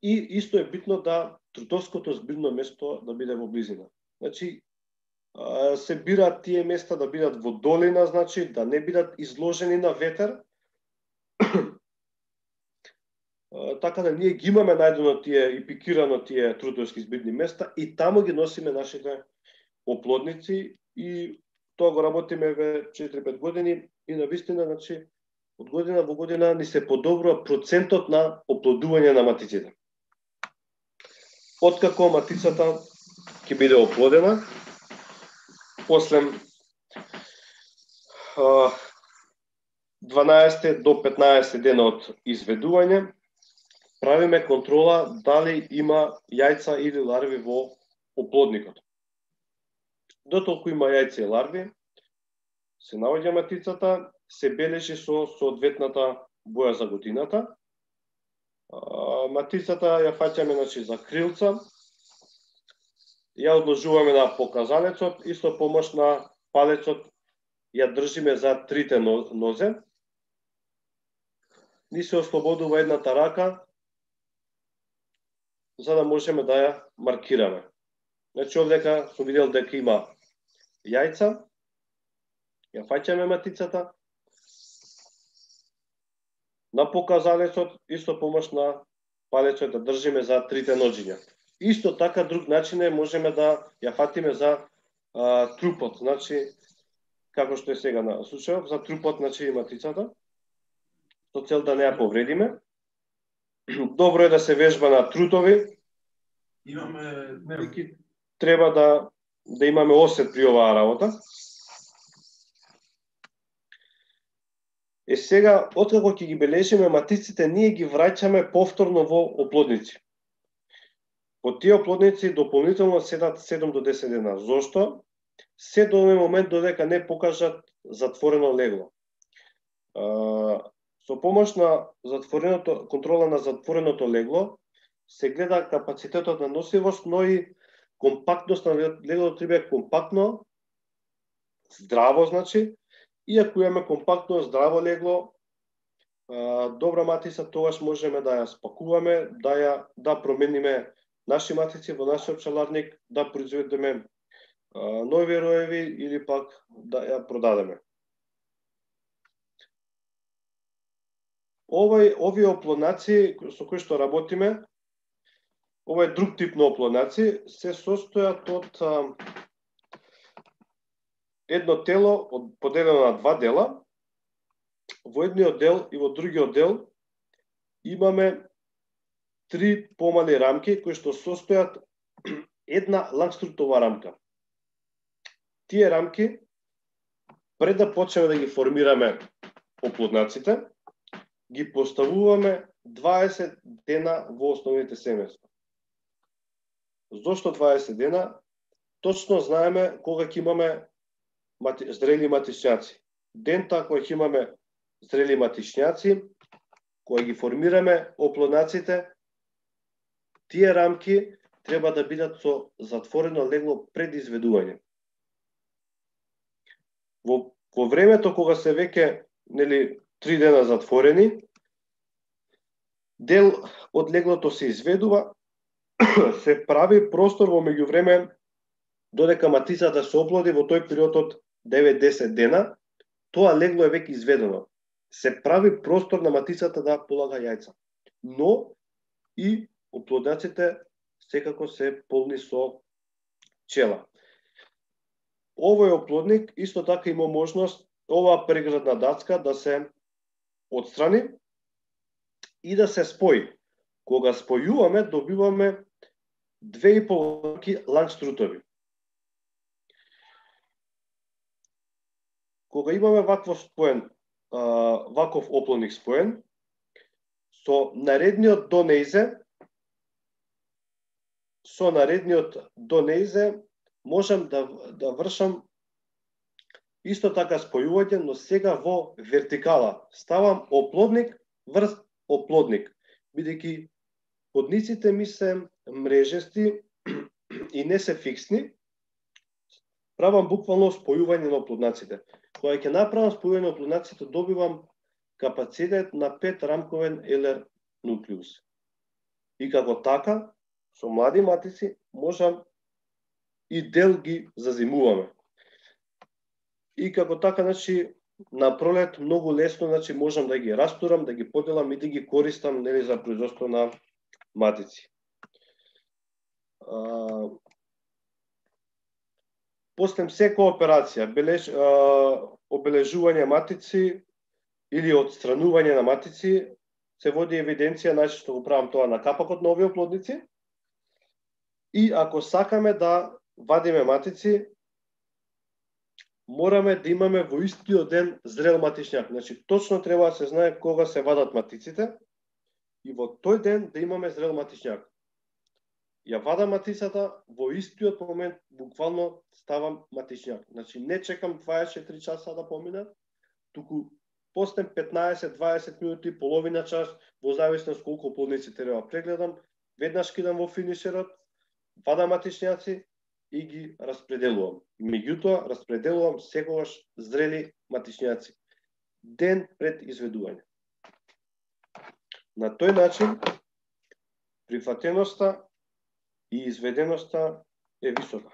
И исто е битно да трутовското збирно место да биде во близина. Значи, се бираат тие места да бидат во долина, значи да не бидат изложени на ветер. Така да ние ги имаме најдено тие и пикирано тие трутовски збирни места и таму ги носиме нашите оплодници и тоа го работиме ве четири-пет години и навистина, значи, од година во година ни се подобрува процентот на оплодување на матиците. Откако матицата ќе биде оплодена, после дванаесет до петнаесет дена од изведување, правиме контрола дали има јајца или ларви во оплодникот. Дотолку има јајца и ларви, се наоѓа матицата, се бележи со соодветната боја за годината. Матицата ја фаќаме, значи, за крилца. Ја одложуваме на показалецот и со помош на палецот ја држиме за трите нозе. Ни се ослободува едната рака, за да можеме да ја маркираме. Значи, овдека сум видел дека има јајца. Ја фаќаме матицата на показалецот и со помош на палецот да држиме за трите ноџиња. Исто така, друг начин е, можеме да ја фатиме за а, трупот, значи, како што е сега на случајот, за трупот, значи, матицата, со цел да не ја повредиме. Добро е да се вежба на трутови. Имаме... Треба да, да имаме осет при оваа работа. Е сега, откако ќе ги бележиме матиците, ние ги враќаме повторно во оплодници. По тие оплодници дополнително седат седум до десет дена. Зошто? Се до овој момент додека не покажат затворено легло. А, со помош на затвореното, контрола на затвореното легло се гледа капацитетот на носивост, но и компактност на леглото треба е компактно, здраво, значи, и ако имаме компактно, здраво легло, добра матица, тогаш можеме да ја спакуваме, да ја да промениме наши матици во нашиот пчеларник, да произведеме нови роеви или пак да ја продадеме. Овој овие оплоднаци со кои што работиме, овој друг тип на оплоднаци се состојат од а, едно тело од, поделено на два дела. Во едниот дел и во другиот дел имаме три помали рамки кои што состојат една лангструтова рамка. Тие рамки, пред да почнеме да ги формираме оплоднаците, ги поставуваме дваесет дена во основните семејства. Зошто дваесет дена? Точно знаеме кога ќе имаме мати, зрели матичњаци. Дента кога ќе имаме зрели матичњаци, кога ги формираме оплоднаците, тие рамки треба да бидат со затворено легло пред изведување. Во, во времето кога се веќе, нели, три дена затворени, дел од леглото се изведува, се прави простор во меѓувреме додека матицата се оплоди во тој период од девет до десет дена, тоа легло е веќе изведено. Се прави простор на матицата да полага јајца. Но и оплоднаците секако се полни со пчела. Овој оплодник исто така има можност оваа преградна дацка да се отстрани и да се спои. Кога спојуваме, добиваме две и пол рамки лангструтови. Кога имаме вакво споен, ваков оплодник споен, со наредниот до нејзе, со наредниот до нејзе можам да, да вршам исто така спојување, но сега во вертикала. Ставам оплодник врз оплодник, бидејќи подниците ми се мрежести и не се фиксни, правам буквално спојување на оплоднаците. Кога ќе направам спојување на оплоднаците, добивам капацитет на пет рамковен елер нуклеус. И како така, со млади матици, можам и дел ги зазимуваме. И како така, значи, на пролет многу лесно, значи, можам да ги растурам, да ги поделам и да ги користам, нели, за производство на матици. А, после секоја операција, бележ, а, обележување матици или отстранување на матици, се води евиденција, најчесто го правам тоа на капакот на овие оплодници. И ако сакаме да вадиме матици, мораме да имаме во истиот ден зрел матичњак. Значи, точно треба да се знае кога се вадат матиците и во тој ден да имаме зрел матичњак. Ја вадам матицата, во истиот момент буквално ставам матичњак. Значи, не чекам дваесет и четири часа да поминат, туку после петнаесет до дваесет минути, половина час, во зависност колку плодници треба прегледам, веднаш кидам во финишерот, вадам матичњаци и ги распределувам. Меѓутоа, распределувам секогаш зрели матичњаци, ден пред изведување. На тој начин, прифатеноста и изведеноста е висока.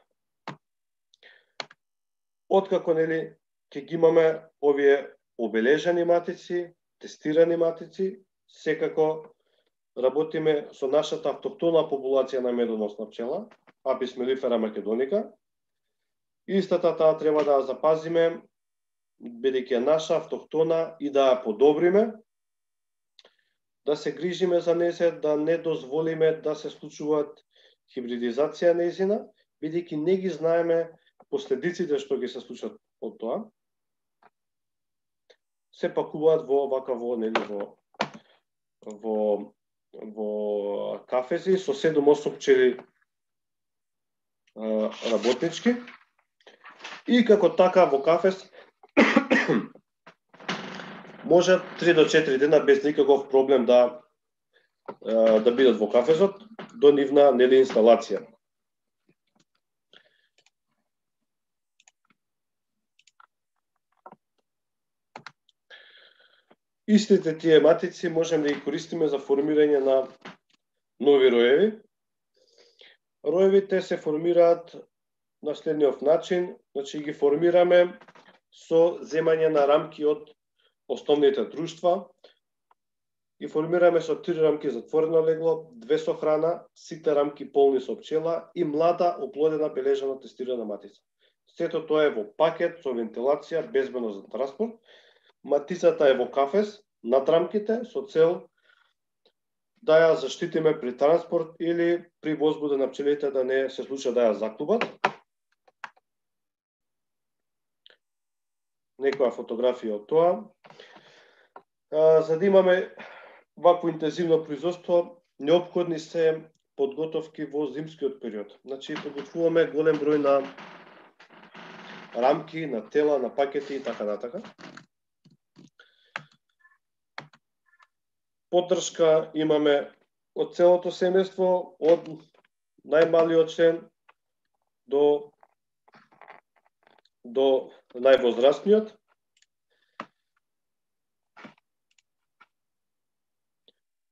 Откако, нели, ќе ги имаме овие обележани матици, тестирани матици, секако работиме со нашата автохтона популација на медоносна пчела, Apis mellifera macedonica. Истата таа треба да ја запазиме, бидејќи е наша автохтона, и да ја подобриме, да се грижиме за нејзе, да не дозволиме да се случуваат хибридизација нејзина, бидејќи не ги знаеме последиците што ги се случат од тоа. Се пакуваат во вакаво, нели, во во во кафези со седум осум пчели работнички, и како така во кафез може три до четири дена без никаков проблем да да бидат во кафезот до нивна, нели, инсталација. Истите тие матици можеме да ги користиме за формирање на нови роеви. Роевите се формираат на следниот начин, значи ги формираме со земање на рамки од основните друштва. Ги формираме со три рамки затворено легло, две со храна, сите рамки полни со пчела и млада оплодена бележана тестирана матица. Сето тоа е во пакет со вентилација, безбедно за транспорт. Матицата е во кафез над рамките со цел да ја заштитиме при транспорт или при возбуда на пчелите да не се случи да ја заклубат. Некоја фотографија од тоа. За да имаме вакво интензивно производство, неопходни се подготовки во зимскиот период. Значи, подготвуваме голем број на рамки, на тела, на пакети и така натака. Поддршка имаме од целото семејство, од најмалиот член до до највозрастниот.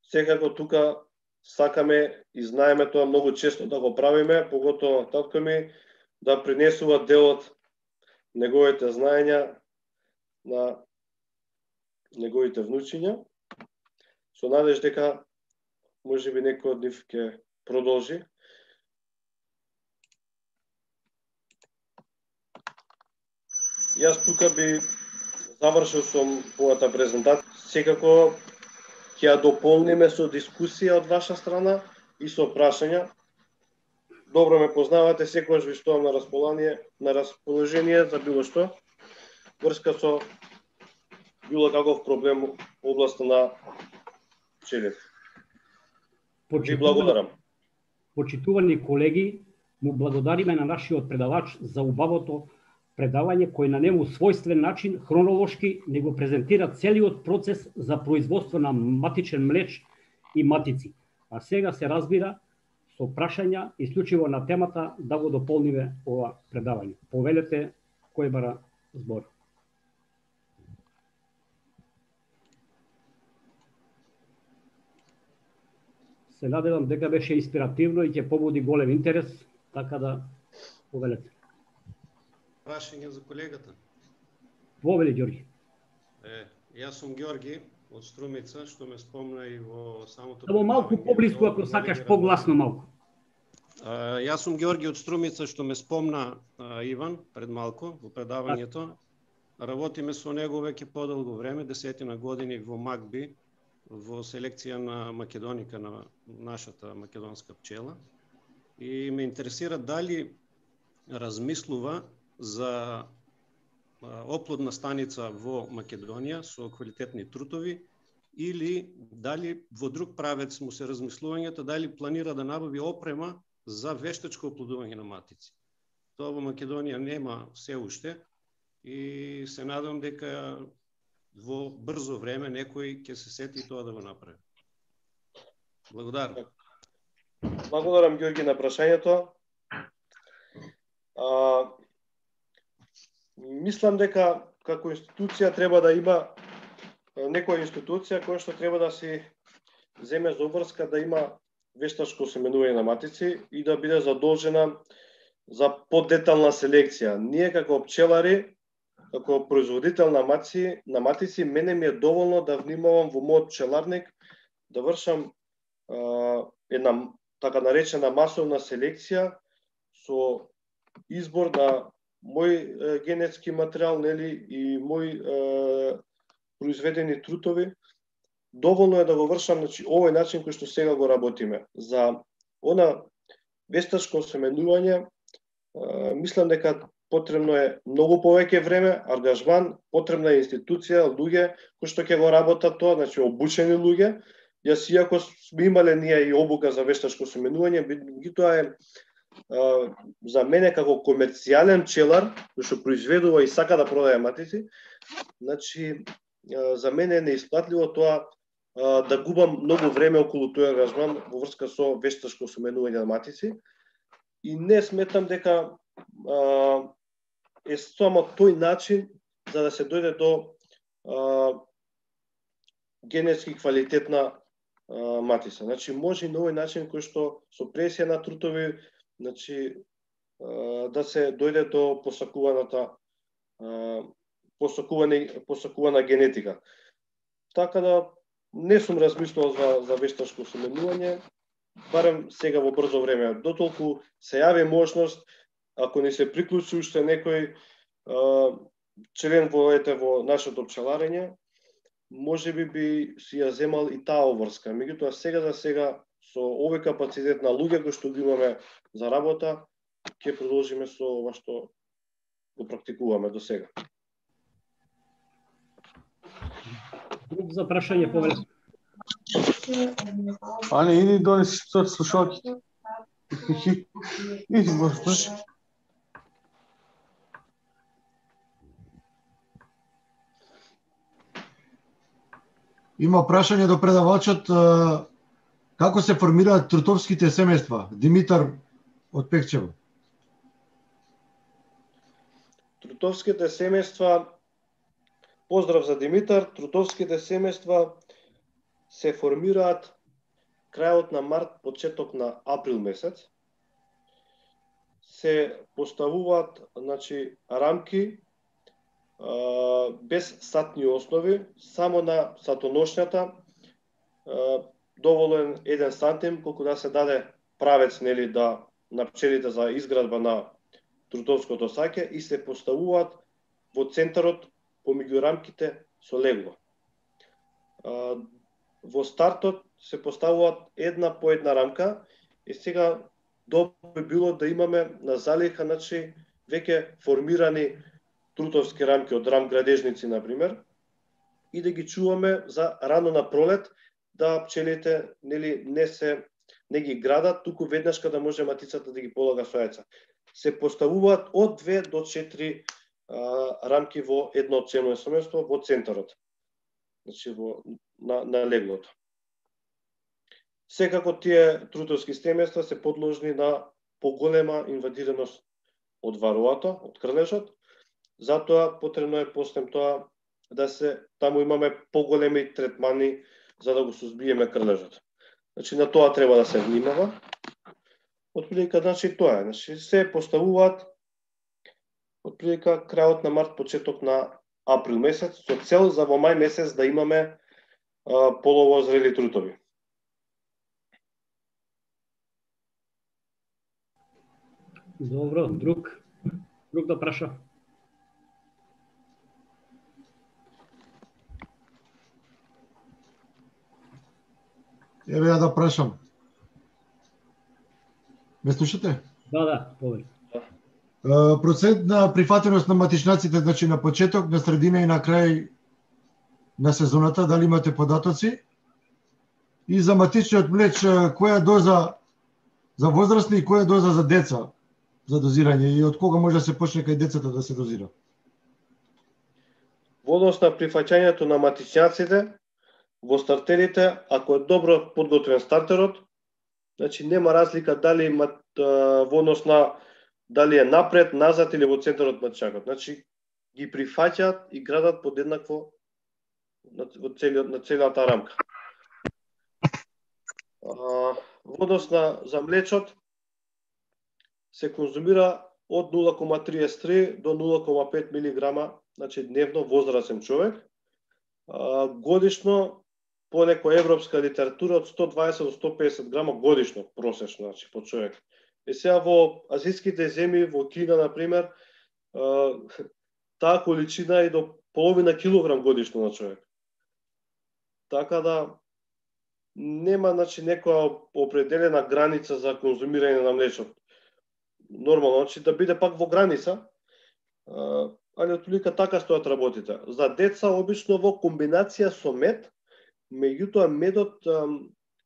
Секако тука сакаме и знаеме тоа многу често да го правиме, поготово татко ми да принесува дел од неговите знаења на неговите внучиња. Со надеж дека можеби некој од нив ќе продолжи. Јас тука би завршил со мојата презентација. Секако ќе ја дополниме со дискусија од ваша страна и со прашања. Добро ме познавате, секогаш ви стоам на расположение, на расположение за било што врска со било каков проблем во областа на пчелите. Ви благодарам. Почитувани колеги, му благодариме на нашиот предавач за убавото предавање кој на нему својствен начин, хронолошки, не го презентира целиот процес за производство на матичен млеч и матици. А сега се разбира со прашања исклучиво на темата да го дополниме ова предавање. Повелете кој бара збор. Се надевам дека беше инспиративно и ќе побуди голем интерес, така да повелете. Прашање за колегата. Повели, Ѓорги. Е, јас сум Ѓорги од Струмица, што ме спомна и во самото... Само малку поблиску, ако сакаш, погласно малку. А, јас сум Ѓорги од Струмица, што ме спомна а, Иван пред малку во предавањето. Работиме со него веќе подолго време, десетина години во МАКБИ, во селекција на македоника на нашата македонска пчела. И ме интересира дали размислува за оплодна станица во Македонија со квалитетни трутови или дали во друг правец му се размислувањето, дали планира да набави опрема за вештачко оплодување на матици. Тоа во Македонија нема се уште и се надам дека во брзо време некој ќе се сети тоа да го направи. Благодарам. Благодарам, Георги, на прашањето. А, мислам дека како институција треба да има некоја институција која што треба да си земе за обврска да има вештачко осеменување на матици и да биде задолжена за подетална селекција. Ние како пчелари, како производител на матици, на матици, мене ми е доволно да внимавам во мојот пчеларник, да вршам а, една така наречена масовна селекција со избор на мој е, генетски материјал, нели, и мој е, произведени трутови. Доволно е да го вршам, значи, овој начин кој што сега го работиме. За она вештачко осеменување, е, мислам дека потребно е многу повеќе време, ангажман, потребна е институција, луѓе кои што ќе го работат тоа, значи обучени луѓе. Јас иако сме имале ние и обука за вештачко осеменување, меѓутоа е а, за мене како комерцијален пчелар, кој што произведува и сака да продае матици, значи а, за мене е неисплатливо тоа а, да губам многу време околу тој ангажман во врска со вештачко осеменување на матици. И не сметам дека а, е само тој начин за да се дојде до а, генетски квалитетна а, матица. Значи може и на овој начин кој што со пресија на трутови, значи а, да се дојде до посакуваната а, посакуване посакувана генетика. Така да не сум размислувал за за вештачко осеменување, барем сега во брзо време. Дотолку се јави можност, ако не се приклучи уште некој а, член во ете во нашето пчеларење, може би би си ја земал и таа обврска. Меѓутоа сега за сега со овој капацитет на луѓе кои што ги имаме за работа, ќе продолжиме со ова што го практикуваме до сега. Друг за прашање, повеле. Ане, иди донеси слушалките. Иди, може. Има прашање до предавачот како се формираат трутовските семејства. Димитар од Пекчево. Трутовските семејства, поздрав за Димитар, трутовските семејства се формираат крајот на март, почеток на април месец. Се поставуваат, значи, рамки а, без сатни основи, само на сатоношњата, а, доволен еден сантим, колку да се даде правец, нели, да на пчелите за изградба на трутовското саќе и се поставуваат во центарот помеѓу рамките со легло. А, во стартот се поставуваат една по една рамка и сега добро би било да имаме на залиха, значи, веќе формирани трутовски рамки од рам-градежници, например, и да ги чуваме за рано на пролет, да пчелите, нели, не се не ги градат, туку веднаш кога може матицата да ги полага со јајца. Се поставуваат од две до четири а, рамки во едно ценно семејство во центарот. Значи во на, на леглото. Секако тие трутовски семејства се подложни на поголема инвадираност од вароато, од крлежот. Затоа потребно е после тоа да се таму имаме поголеми третмани за да го сузбиеме крлежот. Значи на тоа треба да се внимава. Отприлика, значи тоа е, значи се поставуваат отприлика крајот на март, почеток на април месец, со цел за во мај месец да имаме а, полово зрели трутови. Добро, друг, друг да праша. Еве ја да прашам. Ме слушате? Да, да, повели. Процент на прифатеност на матичнаците, значи на почеток, на средина и на крај на сезоната, дали имате податоци? И за матичниот млеч, која доза за возрастни и која доза за деца за дозирање и од кога може да се почне кај децата да се дозира? Во однос на прифаќањето на матичњаците, во стартерите, ако е добро подготвен стартерот, значи нема разлика дали мат, во однос на дали е напред, назад или во центарот на матичњакот. Значи ги прифаќаат и градат подеднакво на, целиот, на целата рамка. Во однос на за млечот се конзумира од нула кома триесет и три до нула кома пет милиграма, значи дневно возрасен човек. А, годишно по некоја европска литература од сто дваесет до сто песет грама годишно просечно, значи по човек. И сега во азијските земји, во Кина на пример, таа количина е до половина килограм годишно на човек. Така да нема, значи, некоја определена граница за конзумирање на млечот. Нормално, значи, да биде пак во граница, али отприлика така стојат работите. За деца, обично во комбинација со мед, меѓутоа медот,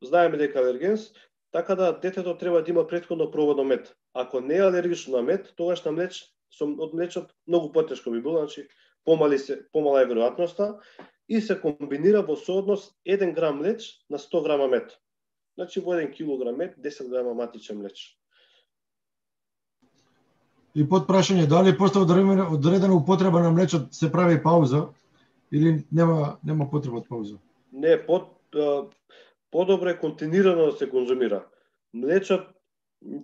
знаеме дека е алергенс, така да детето треба да има претходно пробано мед. Ако не е алергично на мед, тогаш на млеч, од млечот многу потешко би било, значи помали се, помала е веројатноста, и се комбинира во сооднос еден грам млеч на сто грама мед. Значи во еден килограм мед, десет грама матичен млеч. И под прашање, дали после одредена употреба на млечот се прави пауза или нема нема потреба од пауза? Не, под подобро е континуирано да се конзумира. Млечот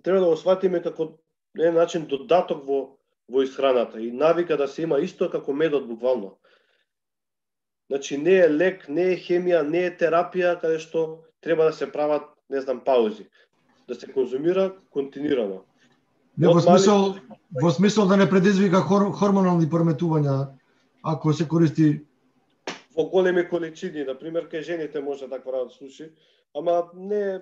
треба да го сватиме како еден начин додаток во во исхраната и навика да се има исто како медот буквално. Значи не е лек, не е хемија, не е терапија каде што треба да се прават, не знам, паузи. Да се конзумира континуирано. Не, во смисол, во смисол да не предизвика хор, хормонални пореметувања ако се користи во големи количини, на пример кај жените може таква да случи, ама не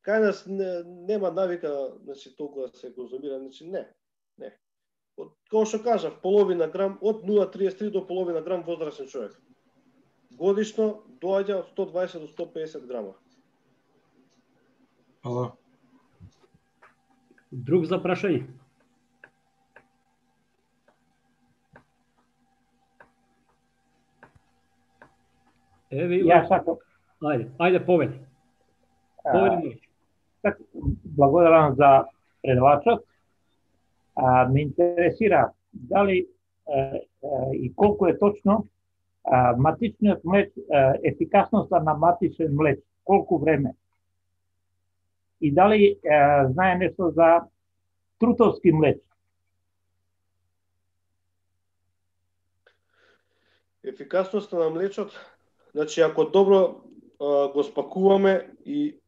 кај нас не, нема навика, значи толку да се конзумира, значи не. Не. Од како што кажав, половина грам од нула кома триесет и три до половина грам возрасен човек. Годишно доаѓа од сто дваесет до сто песет грама. Ала. Друг за прашање? Еве, Ја сакам. Ајде, ајде повели. Повели. Так, благодарам за предавачот. А, ме интересира дали а, а, и колку е точно а, матичниот млеч, а, ефикасноста на матичен млеч, колку време? И дали а, знае нешто за трутовски млеч? Ефикасноста на млечот, значи ако добро а, го спакуваме и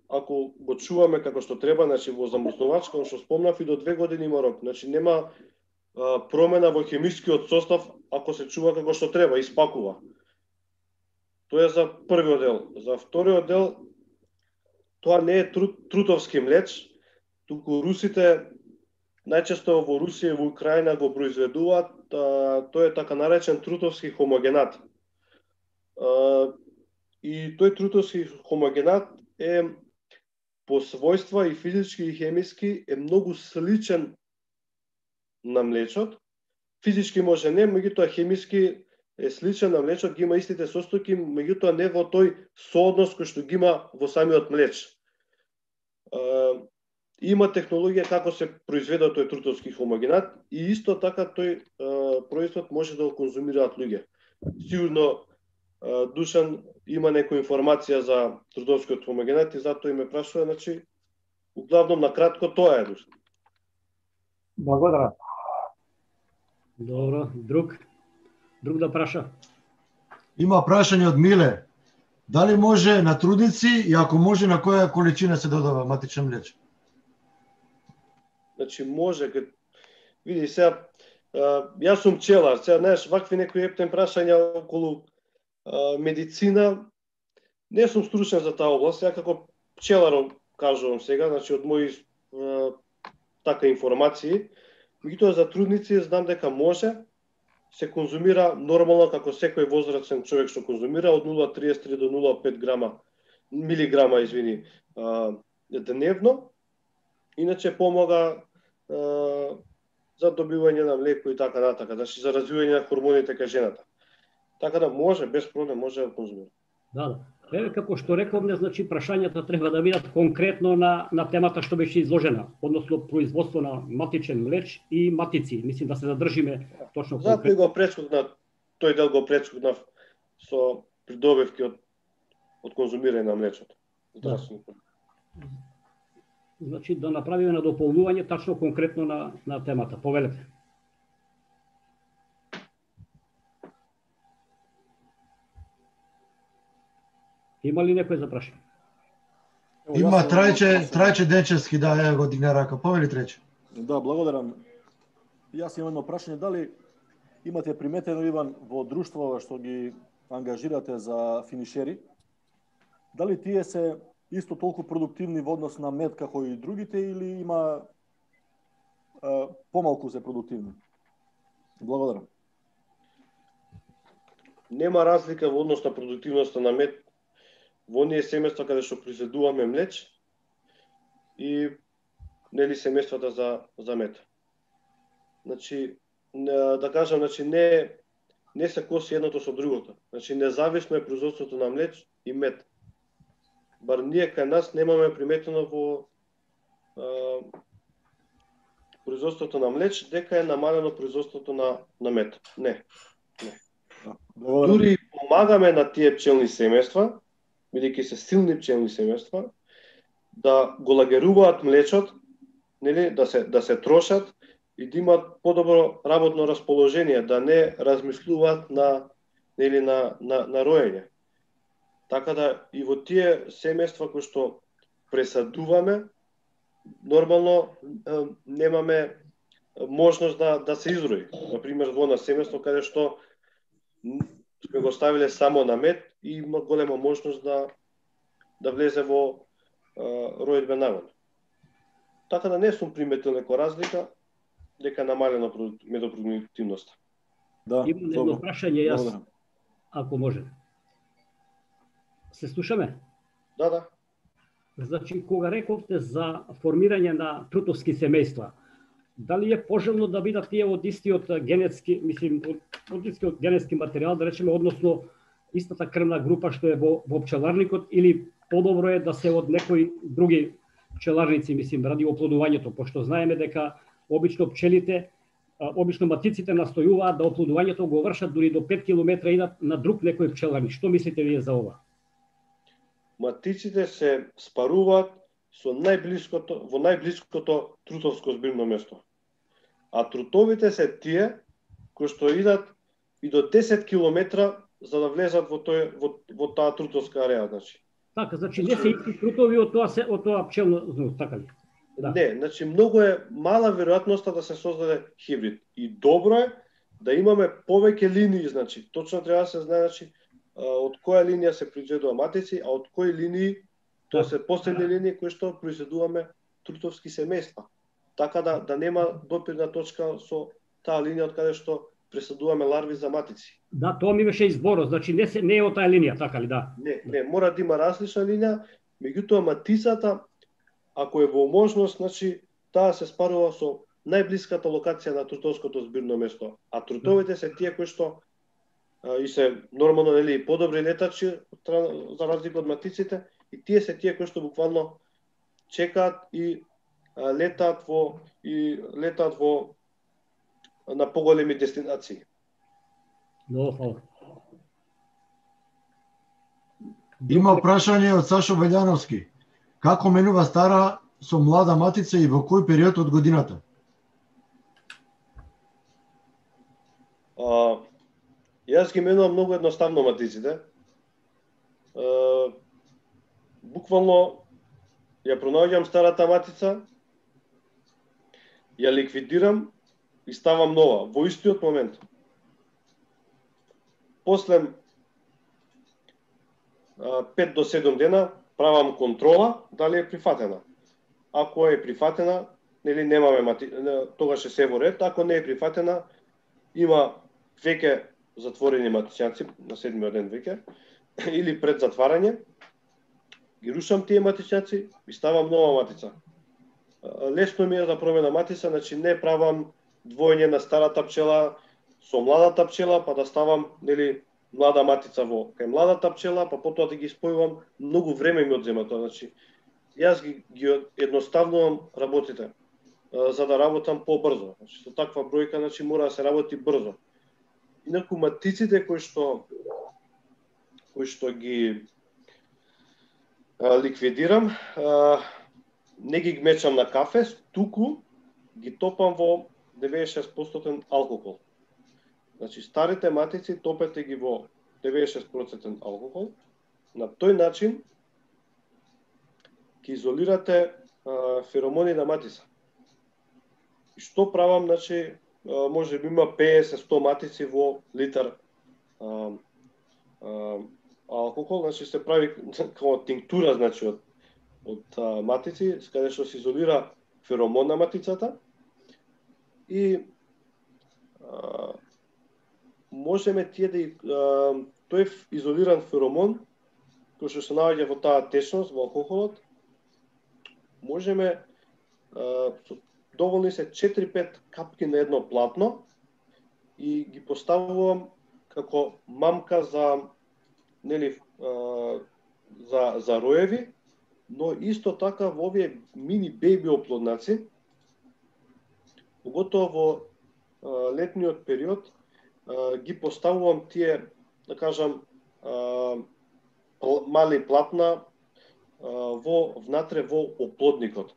ако го чуваме како што треба, значи во замрзнувач, како што спомнав, и до две години има рок. Значи нема а, промена во хемискиот состав ако се чува како што треба и спакува. Тоа е за првиот дел. За вториот дел, тоа не е тру, трутовски млеч, туку русите најчесто во Русија и во Украина го произведуваат, а, тој е така наречен трутовски хомогенат. А, и тој трутовски хомогенат е по својства и физички и хемиски е многу сличен на млечот. Физички може не, меѓутоа хемиски е сличен на млечот, ги има истите состојки, меѓутоа не во тој сооднос кој што ги има во самиот млеч. А, има технологија како се произведе тој трутовски хомогенат и исто така тој а, производ може да го конзумираат луѓе. Сигурно а, Душан има некоја информација за трутовскиот хомогенат и затоа и ме прашува, значи, углавном на кратко тоа е, Душан. Благодарам. Добро, друг? Друг да праша? Има прашање од Миле. Дали може на трудници и ако може на која количина се додава матичен млеч? Значи може, кад... види сега, јас сум пчелар, сега знаеш вакви некои ептен прашања околу а, медицина, не сум стручен за таа област, сега како пчелар кажувам сега, значи од мои а, така информации, меѓутоа за трудници знам дека може, се конзумира нормално како секој возрастен човек што конзумира од нула кома триесет и три до нула кома пет грама милиграма, извини, а, дневно. Иначе помага а, за добивање на млеко и така натака, значи за развивање на хормоните кај жената. Така да може, без проблем, може да конзумира. Да, да. Еве како што рековме, значи прашањата треба да бидат конкретно на на темата што беше изложена, односно производство на матичен млеч и матици. Мислим да се задржиме точно конкретно. Затоа го прескокнав, тој дел го прескокнав со придобивки од од конзумирање на млечото. Здравствено. Да. Значи да направиме на дополнување тачно конкретно на на темата. Повелете. Има ли некој за прашање? Има Трајче, Трајче Денчевски, да, ја го дигна рака. Повели Трајче. Да, благодарам. Јас имам едно прашање, дали имате приметено, Иван, во друштвова што ги ангажирате за финишери, дали тие се исто толку продуктивни во однос на мед како и другите или има а, помалку се продуктивни? Благодарам. Нема разлика во однос на продуктивноста на мед во оние семејства каде што произведуваме млеч и нели семејствата за за мед. Значи да кажам, значи не не се коси едното со другото. Значи независно е производството на млеч и мед. Бар ние кај нас немаме приметено во а, производството на млеч дека е намалено производството на на мед. Не. Не. Дури помагаме на тие пчелни семејства, бидејќи се силни пчелни семејства, да го лагеруваат млечот, нели, да се да се трошат и да имат подобро работно расположение, да не размислуваат на нели на на на роење. Така да и во тие семејства кои што пресадуваме, нормално немаме можност да да се изрои. Например, во на семејство каде што сме го ставиле само на мед и има голема можност да да влезе во ројдбен нагон. Така да не сум приметил некоја разлика дека намалена медопродуктивноста. Да, имам едно прашање јас, благодарам. Ако може. Се слушаме? Да, да. Значи, кога рековте за формирање на трутовски семејства, дали е пожелно да бидат тие од истиот генетски, мислим, од истиот генетски материјал, да речеме, односно истата крвна група што е во, во пчеларникот, или подобро е да се од некои други пчеларници, мислим, ради оплодувањето, пошто знаеме дека обично пчелите, обично матиците настојуваат да оплодувањето го вршат дури до пет километра идат на друг некој пчеларник. Што мислите вие за ова? Матиците се спаруваат со најблиското во најблиското трутовско збирно место. А трутовите се тие кои што идат и до десет километра за да влезат во тој во, во таа трутовска ареа, значи. Така, значи не се исти трутови од тоа се од тоа пчелно зну, така ли? Да. Не, значи многу е мала веројатноста да се создаде хибрид. И добро е да имаме повеќе линии, значи. Точно треба да се знае, значи, од која линија се произведува матици, а од кои линии, тоа се последни линии кои што произведуваме трутовски семејства. Така да да нема допирна точка со таа линија од каде што пресадуваме ларви за матици. Да, тоа ми беше изборот, значи не се не е од таа линија, така ли, да? Не, не, мора да има различна линија, меѓутоа матицата ако е во можност, значи таа се спарува со најблиската локација на трутовското збирно место, а трутовите се тие кои што а, и се нормално нели подобри летачи за разлика од матиците, и тие се тие кои што буквално чекаат и а, летаат во и летаат во на поголеми дестинации. Много фала. Има прашање од Сашо Велјановски. Како менува стара со млада матица и во кој период од годината? А, јас ги менувам многу едноставно матиците. А, буквално ја пронаоѓам старата матица, ја ликвидирам и ставам нова во истиот момент. После а, пет до седум дена правам контрола дали е прифатена. Ако е прифатена, нели немаме мати... тогаш е се во ред, ако не е прифатена, има веќе затворени матичњаци на седмиот ден веќе или пред затварање, ги рушам тие матичњаци и ставам нова матица. Лесно ми е да промена матица, значи не правам двоење на старата пчела со младата пчела, па да ставам, нели, млада матица во кај младата пчела, па потоа да ги спојувам, многу време ми одзема тоа, значи јас ги, ги едноставнувам работите за да работам побрзо. Значи со таква бројка, значи мора да се работи брзо. Инаку матиците кои што кои што ги а, ликвидирам, а, не ги гмечам на кафе, туку ги топам во деветдесет и шест проценти алкохол. Значи старите матици топете ги во деветдесет и шест проценти алкохол. На тој начин ќе изолирате а, феромони на матица. И што правам, значи, а, може би има петдесет до сто матици во литар а, а, алкохол, значи се прави како тинктура, значи од од а, матици, каде што се изолира феромон на матицата и а, можеме тие да а, тој изолиран феромон кој што се наоѓа во таа течност во алкохолот, можеме а, доволни се четири-пет капки на едно платно и ги поставувам како мамка за нели а, за за роеви, но исто така во овие мини беби оплоднаци, поготово во а, летниот период, а, ги поставувам тие, да кажам, а, мали платна а, во внатре во оплодникот.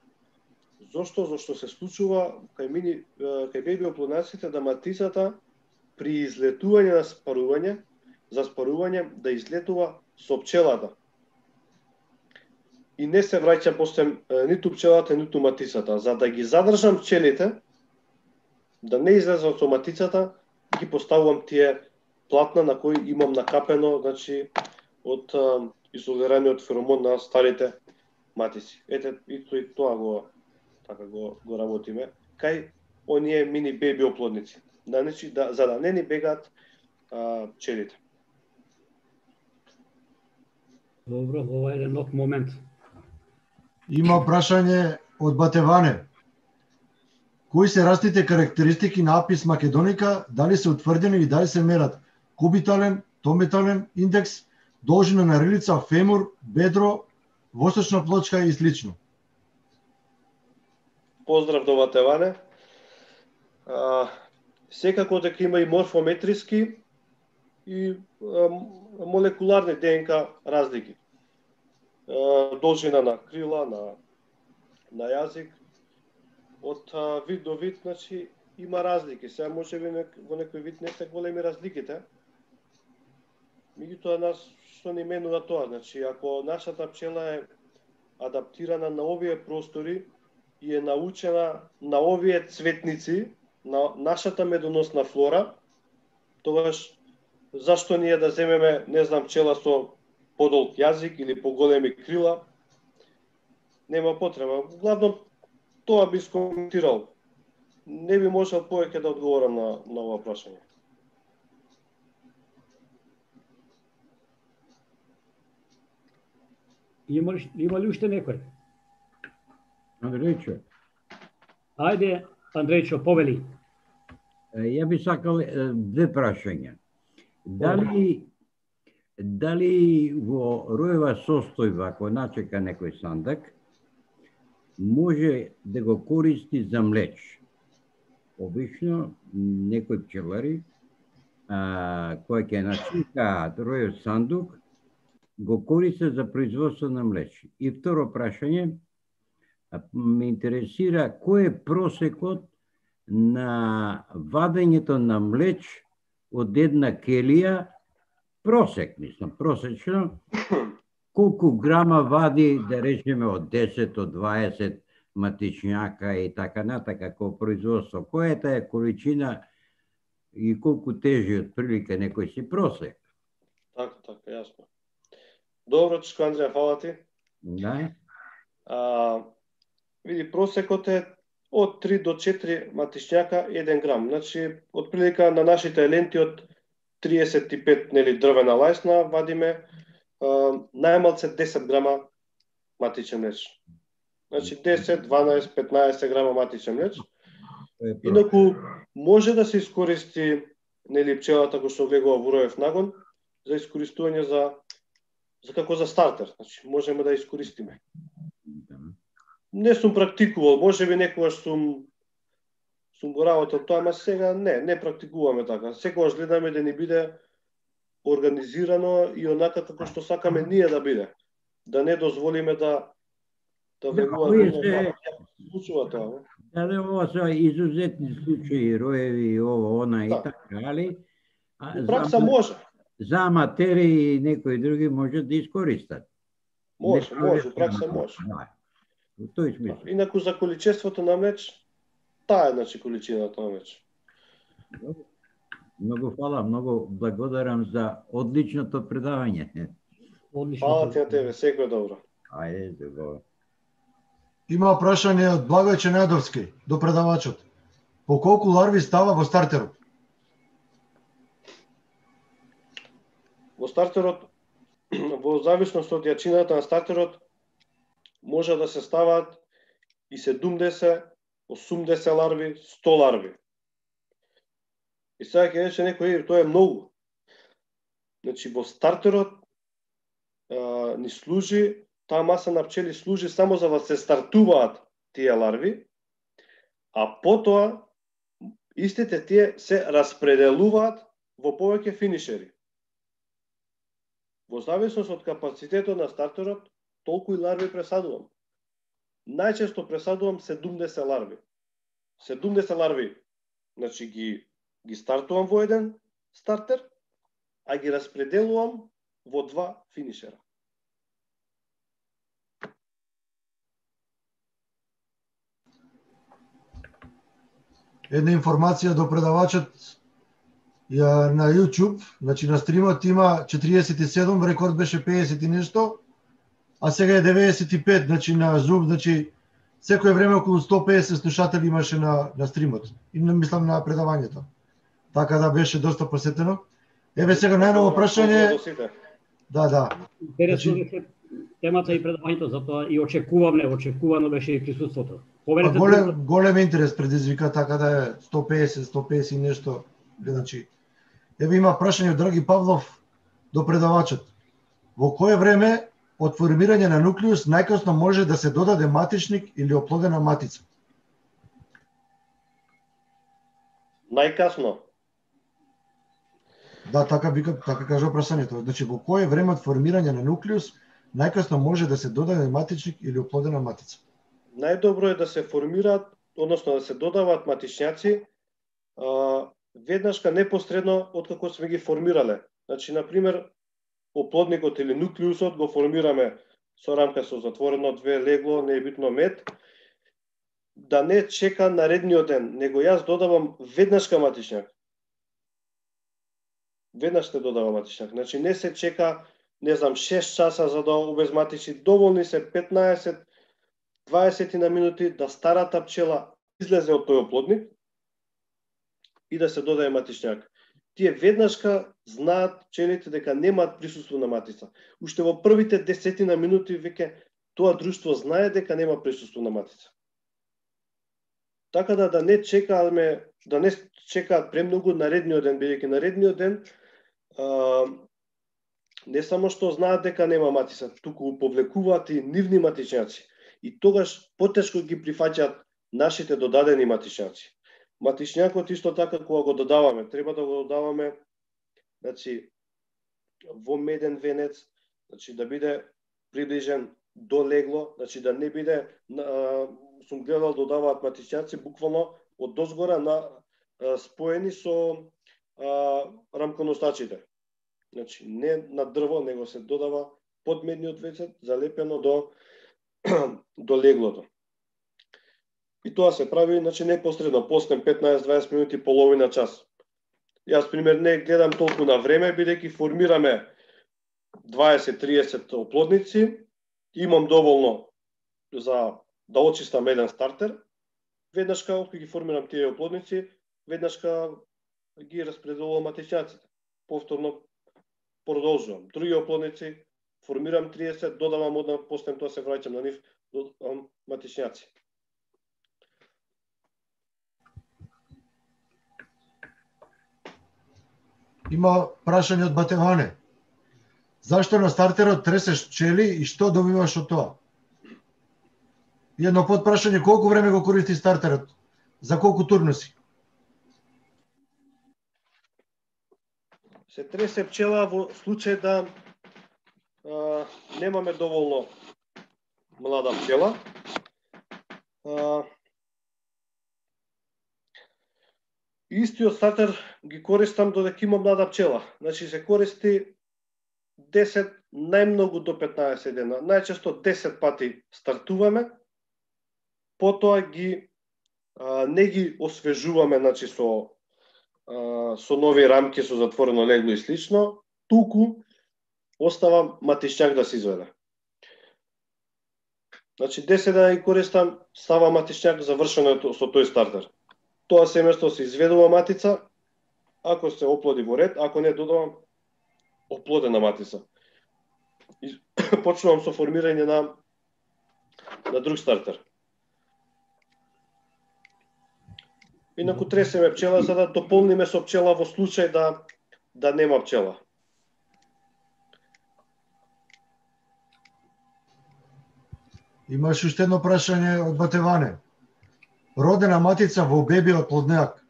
Зошто? Зошто се случува кај мини кај беби оплоднаците да матицата при излетување на спарување, за спарување да излетува со пчелата. И не се враќа после ниту пчелата, ниту матицата. За да ги задржам пчелите, да не излезат со матицата, ги поставувам тие платна на кои имам накапено, значи, од изолираниот феромон на старите матици. Ете, и тоа го така го, го работиме, кај оние мини беби оплодници, да, значи, да, за да не ни бегаат а, пчелите. Добро, ова е еден нов момент. Има прашање од Батеване. Кои се растите карактеристики на Апис македоника, дали се утврдени и дали се мерат кубитален, тометален индекс, должина на рилица, фемур, бедро, восочна плочка и слично? Поздрав до Батеване. А, секако дека има и морфометриски и а, молекуларни ДНК разлики. А, должина на крила, на, на јазик, од а, вид до вид, значи, има разлики. Сега може би во некој вид не се големи разликите. Меѓутоа нас што ни менува тоа, значи ако нашата пчела е адаптирана на овие простори и е научена на овие цветници, на нашата медоносна флора, тогаш зашто ние да земеме, не знам, пчела со подолг јазик или поголеми крила, нема потреба. Главно тоа би скоментирал. Не би можел повеќе да одговорам на, на ова прашање. Има ли, има ли уште некој? Андрејчо. Ајде, Андрејчо, повели. Ја би сакал две прашања. Дали дали во роева состојба кој начека некој сандак може да го користи за млеч? Обично некои пчелари а, кои ќе начекаат роев сандук го користат за производство на млеч. И второ прашање, ме интересира кој е просекот на вадењето на млеч од една келија, просек, мислам, просечно, колку грама вади, да речеме, од десет, од дваесет матичњака и така натака, како производство. Која е таа количина и колку тежи од прилика некој си просек? Така, така, јасно. Добро, Чичко Андреја, фала ти. Да. А, види, просекот е од три до четири матичњака еден грам. Значи, од прилика на нашите ленти од триесет и пет нели, дрвена лајсна вадиме а, најмалце десет грама матичен млеч. Значи десет, дванаесет, петнаесет грама матичен млеч. Инаку може да се искористи нели пчелата која што влегува во роев нагон за искористување за за како за стартер, значи можеме да искористиме. Не сум практикувал, можеби некогаш сум сум го работел тоа, ама сега не, не практикуваме така. Секогаш гледаме да ни биде организирано и онака како што сакаме ние да биде. Да не дозволиме да да влегуваат во случува тоа. Дали ова се изузетни случаи, роеви, ова, она и така, али? У пракса може. За аматери и некои други може да искористат. Може, може, у пракса може. Во тој смисла. Инаку за количеството на меч, таа е значи количината на меч. Многу фала, многу благодарам за одличното предавање. Фала ти на тебе, секој добро. Ајде, добро. Има прашање од Благој Ченадовски до предавачот. По колку ларви става во стартерот? Во стартерот, во зависност од јачината на стартерот, може да се стават и седумдесет, осумдесет ларви, сто ларви. И сега ќе рече некој, тоа е многу. Значи, во стартерот а, ни служи, таа маса на пчели служи само за да се стартуваат тие ларви, а потоа истите тие се распределуваат во повеќе финишери. Во зависност од капацитетот на стартерот, толку и ларви пресадувам. Најчесто пресадувам седумдесет ларви. седумдесет ларви, значи ги ги стартувам во еден стартер, а ги распределувам во два финишера. Една информација до предавачот ја на YouTube, значи на стримот има четириесет и седум, рекорд беше педесет и нешто, а сега е деветдесет и пет, значи на Zoom, значи секое време околу сто педесет слушатели имаше на на стримот. И не мислам на предавањето. Така да беше доста посетено. Еве сега најново прашање. Да, да. Интересно беше темата и предавањето, затоа и очекуваме, очекувано беше и присуството. Поверете, голем голем интерес предизвика, така да е сто педесет, сто педесет и нешто гледачи. Еве има прашање од Драги Павлов до предавачот. Во кое време од формирање на нуклеус најкасно може да се додаде матичник или оплодена матица? Најкасно? Да, така вика, така кажува прашањето. Значи во кое време од формирање на нуклеус најкасно може да се додаде матичник или оплодена матица? Најдобро е да се формираат, односно да се додаваат матичњаци а, веднашка непосредно откако сме ги формирале. Значи, на пример, оплодникот или нуклеусот го формираме со рамка со затворено две легло, не е битно мед, да не чека наредниот ден, него јас додавам веднашка матичњак. Веднаш се додава матичњак. Значи, не се чека, не знам, шест часа за да обезматичи, доволни се петнаесет дваесет на минути да старата пчела излезе од тој оплодник и да се додаде матичњак. Тие веднашка знаат пчелите дека немаат присуство на матица. Уште во првите десетина минути веќе тоа друштво знае дека нема присуство на матица. Така да да не чекаме, да не чекаат премногу наредниот ден, бидејќи наредниот ден а, не само што знаат дека нема матица, туку повлекуваат и нивни матичњаци. И тогаш потешко ги прифаќаат нашите додадени матичњаци. Матичњакот исто така кога го додаваме, треба да го додаваме, значи, во меден венец, значи да биде приближен до легло, значи да не биде, а, сум гледал додаваат матичњаци буквално од дозгора на а, споени со а, рамконосачите. Значи не на дрво, него се додава под медниот венец, залепено до до леглото. И тоа се прави, значи непосредно, после петнаесет-дваесет минути, половина час. Јас, пример, не гледам толку на време, бидејќи формираме дваесет-триесет оплодници, имам доволно за да очистам еден стартер. Веднашка, откако ги формирам тие оплодници, веднашка ги распределувам матичњаците. Повторно продолжувам. Други оплодници, формирам триесет, додавам однак, после тоа се враќам на нив, додавам матичњаци. Има прашање од Батеване. Зашто на стартерот тресеш пчели и што добиваш од тоа? И едно подпрашање, колку време го користи стартерот? За колку турнуси? Се тресе пчела во случај да а, немаме доволно млада пчела. А, истиот стартер ги користам додека има млада пчела. Значи се користи десет, најмногу до петнаесет дена. Најчесто десет пати стартуваме, потоа ги а, не ги освежуваме, значи со а, со нови рамки со затворено легло и слично, туку остава матишњак да се изведе. Значи десет дена ги користам, става матишњак, завршено е со тој стартер. Тоа семејство се изведува матица, ако се оплоди во ред, ако не додавам оплодена матица. И почнувам со формирање на на друг стартер. Инаку тресеме пчела за да дополниме со пчела во случај да да нема пчела. Имаш уште едно прашање од Батеване. Родена матица во беби од плоднеак,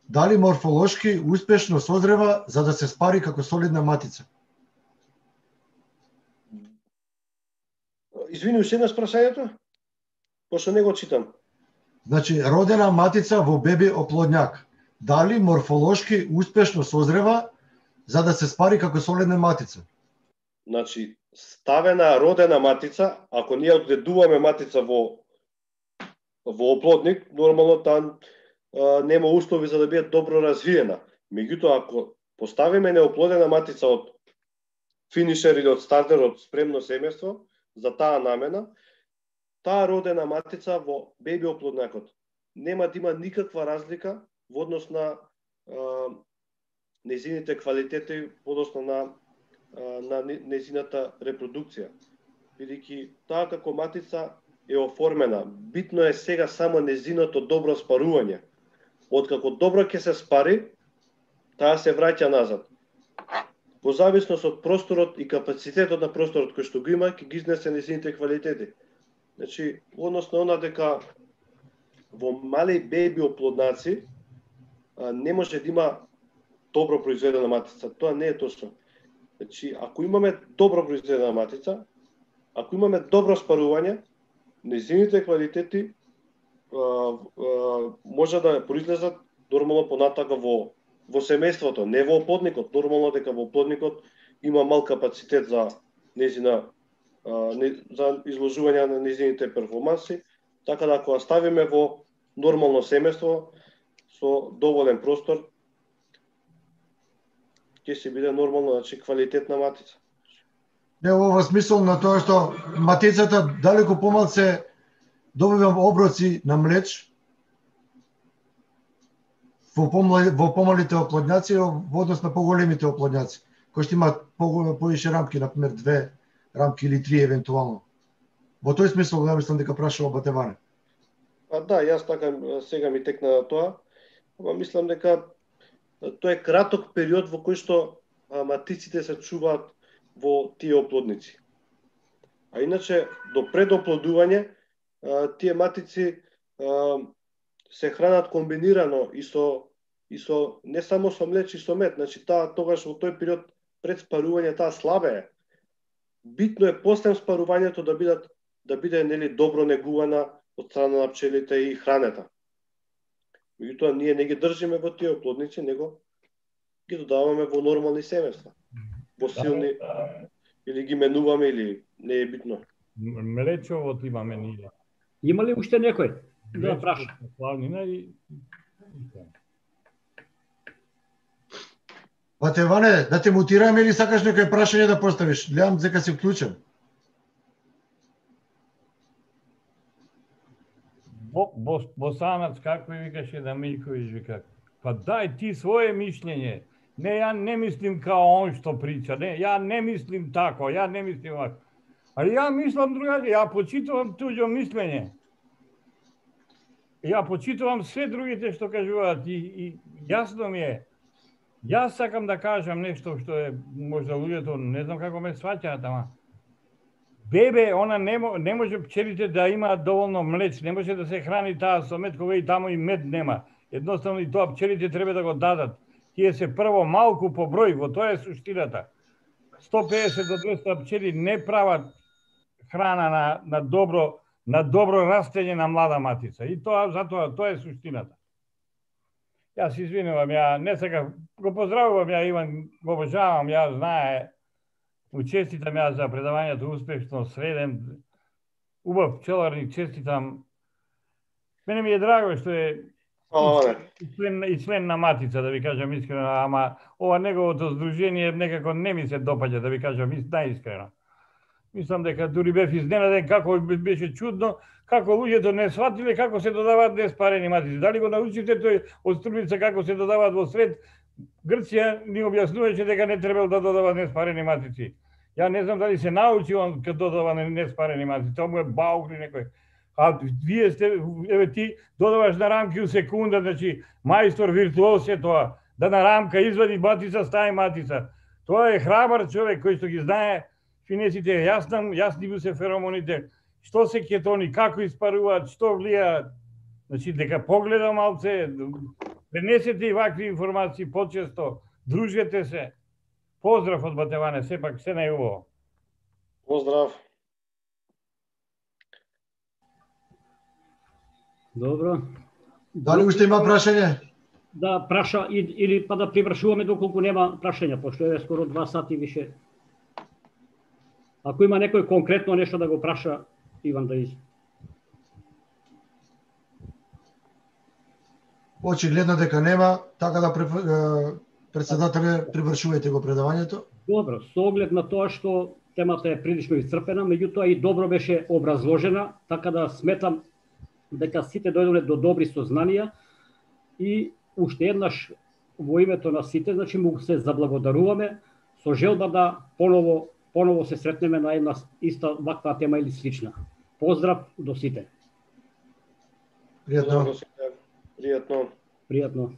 дали морфолошки успешно созрева за да се спари како солидна матица? Извини, уште еднаш прашањето? Пошто не го читам. Значи, родена матица во беби оплодњак, дали морфолошки успешно созрева за да се спари како солидна матица? Значи, ставена родена матица, ако ние одгледуваме матица во во оплодник, нормално таа нема услови за да биде добро развиена. Меѓутоа, ако поставиме неоплодена матица од финишер или од стартер, од спремно семејство, за таа намена, таа родена матица во беби оплоднакот нема да има никаква разлика во однос на а, незините квалитети, во однос на на незината репродукција. Бидејќи таа како матица е оформена. Битно е сега само незиното добро спарување. Откако добро ќе се спари, таа се враќа назад. Во зависност од просторот и капацитетот на просторот кој што го има, ќе ги изнесе незините квалитети. Значи, односно она дека во мали беби оплоднаци не може да има добро произведена матица. Тоа не е точно. Значи, ако имаме добро произведена матица, ако имаме добро спарување, незините квалитети а, а, може да произлезат нормално понатака во во семејството, не во оплодникот. Нормално дека во оплодникот има мал капацитет за незина а, не, за изложување на незините перформанси, така да ако ставиме во нормално семејство со доволен простор, ќе се биде нормално, значи квалитетна матица. Не, ова смисол на тоа што матицата далеку помалце добивам оброци на млеч во, помали, во помалите оплодњаци во однос на поголемите оплодњаци, кои што имаат повише рамки, например две рамки или три евентуално. Во тој смисол, ја мислам дека прашува Батеване. А да, јас така сега ми текна на тоа, ама мислам дека тоа е краток период во кој што матиците се чуваат во тие оплодници. А иначе, до предоплодување, тие матици се хранат комбинирано и со и со не само со млеч и со мед, значи таа тогаш во тој период пред спарување таа слабее. Битно е после спарувањето да бидат да биде нели добро негувана од страна на пчелите и хранета. Меѓутоа ние не ги држиме во тие оплодници, него ги додаваме во нормални семејства. Во силни или ги менуваме или не е битно. Млечовот имаме ние. Има ли уште некој да праша? Славнина и Батеване, да те мутираме или сакаш некој прашање да поставиш? Гледам дека си вклучен. Босанац, како и викаше да Мијковиќ, вика, па дај ти своje мишлење. Не, ја не мислим као он што прича, не, ја не мислим тако, ја не мислим вако. Али ја мислам другаче, ја почитувам туѓо мислење. Ја почитувам све другите што кажуваат и, и јасно ми е Јас сакам да кажам нешто што е можда луѓето не знам како ме сваќаат, ама бебе, она не, не може пчелите да имаат доволно млеч, не може да се храни таа со мед кога и таму и мед нема. Едноставно и тоа пчелите треба да го дадат. Тие се прво малку по број, во тоа е суштината. сто педесет до двеста пчели не прават храна на, на добро на добро растење на млада матица. И тоа затоа тоа е суштината. Јас извинувам, ја не сакам, го поздравувам ја Иван, го обожавам, ја знае, му честитам ја за предавањето успешно, среден, убав пчеларник, честитам. Мене ми е драго што е и член, и член на Матица, да ви кажам искрено, ама ова неговото здружение некако не ми се допаѓа, да ви кажам најискрено. Мислам дека дури бев изненаден како беше чудно, како луѓето не сватиле како се додаваат неспарени матици. Дали го научите тој од Струмица како се додаваат во сред Грција, ни објаснуваше дека не требало да додава неспарени матици. Ја не знам дали се научи он кога додава неспарени матици, тоа му е баук или некој. А вие сте, еве ти додаваш на рамки у секунда, значи мајстор виртуоз е тоа, да на рамка извади матица, стави матица. Тоа е храбар човек кој што ги знае финесите, јасно, јасни му се феромоните, што се кетони, како испаруваат, што влијаат. Значи дека погледа малце, пренесете и вакви информации почесто, дружете се. Поздрав од Батеване, сепак се најубаво. Поздрав. Добро. Дали уште има прашање? Да праша или па да привршуваме доколку нема прашања, пошто е скоро два сати више. Ако има некој конкретно нешто да го праша, Иван да из. Очигледно дека нема, така да председателе привршувајте го предавањето. Добро, со оглед на тоа што темата е прилично исцрпена, меѓутоа и добро беше образложена, така да сметам дека сите дојдоле до добри сознанија и уште еднаш во името на сите, значи му се заблагодаруваме со желба да поново поново се сретнеме на една иста ваква тема или слична. Поздрав до сите. Пријатно. Пријатно. Пријатно.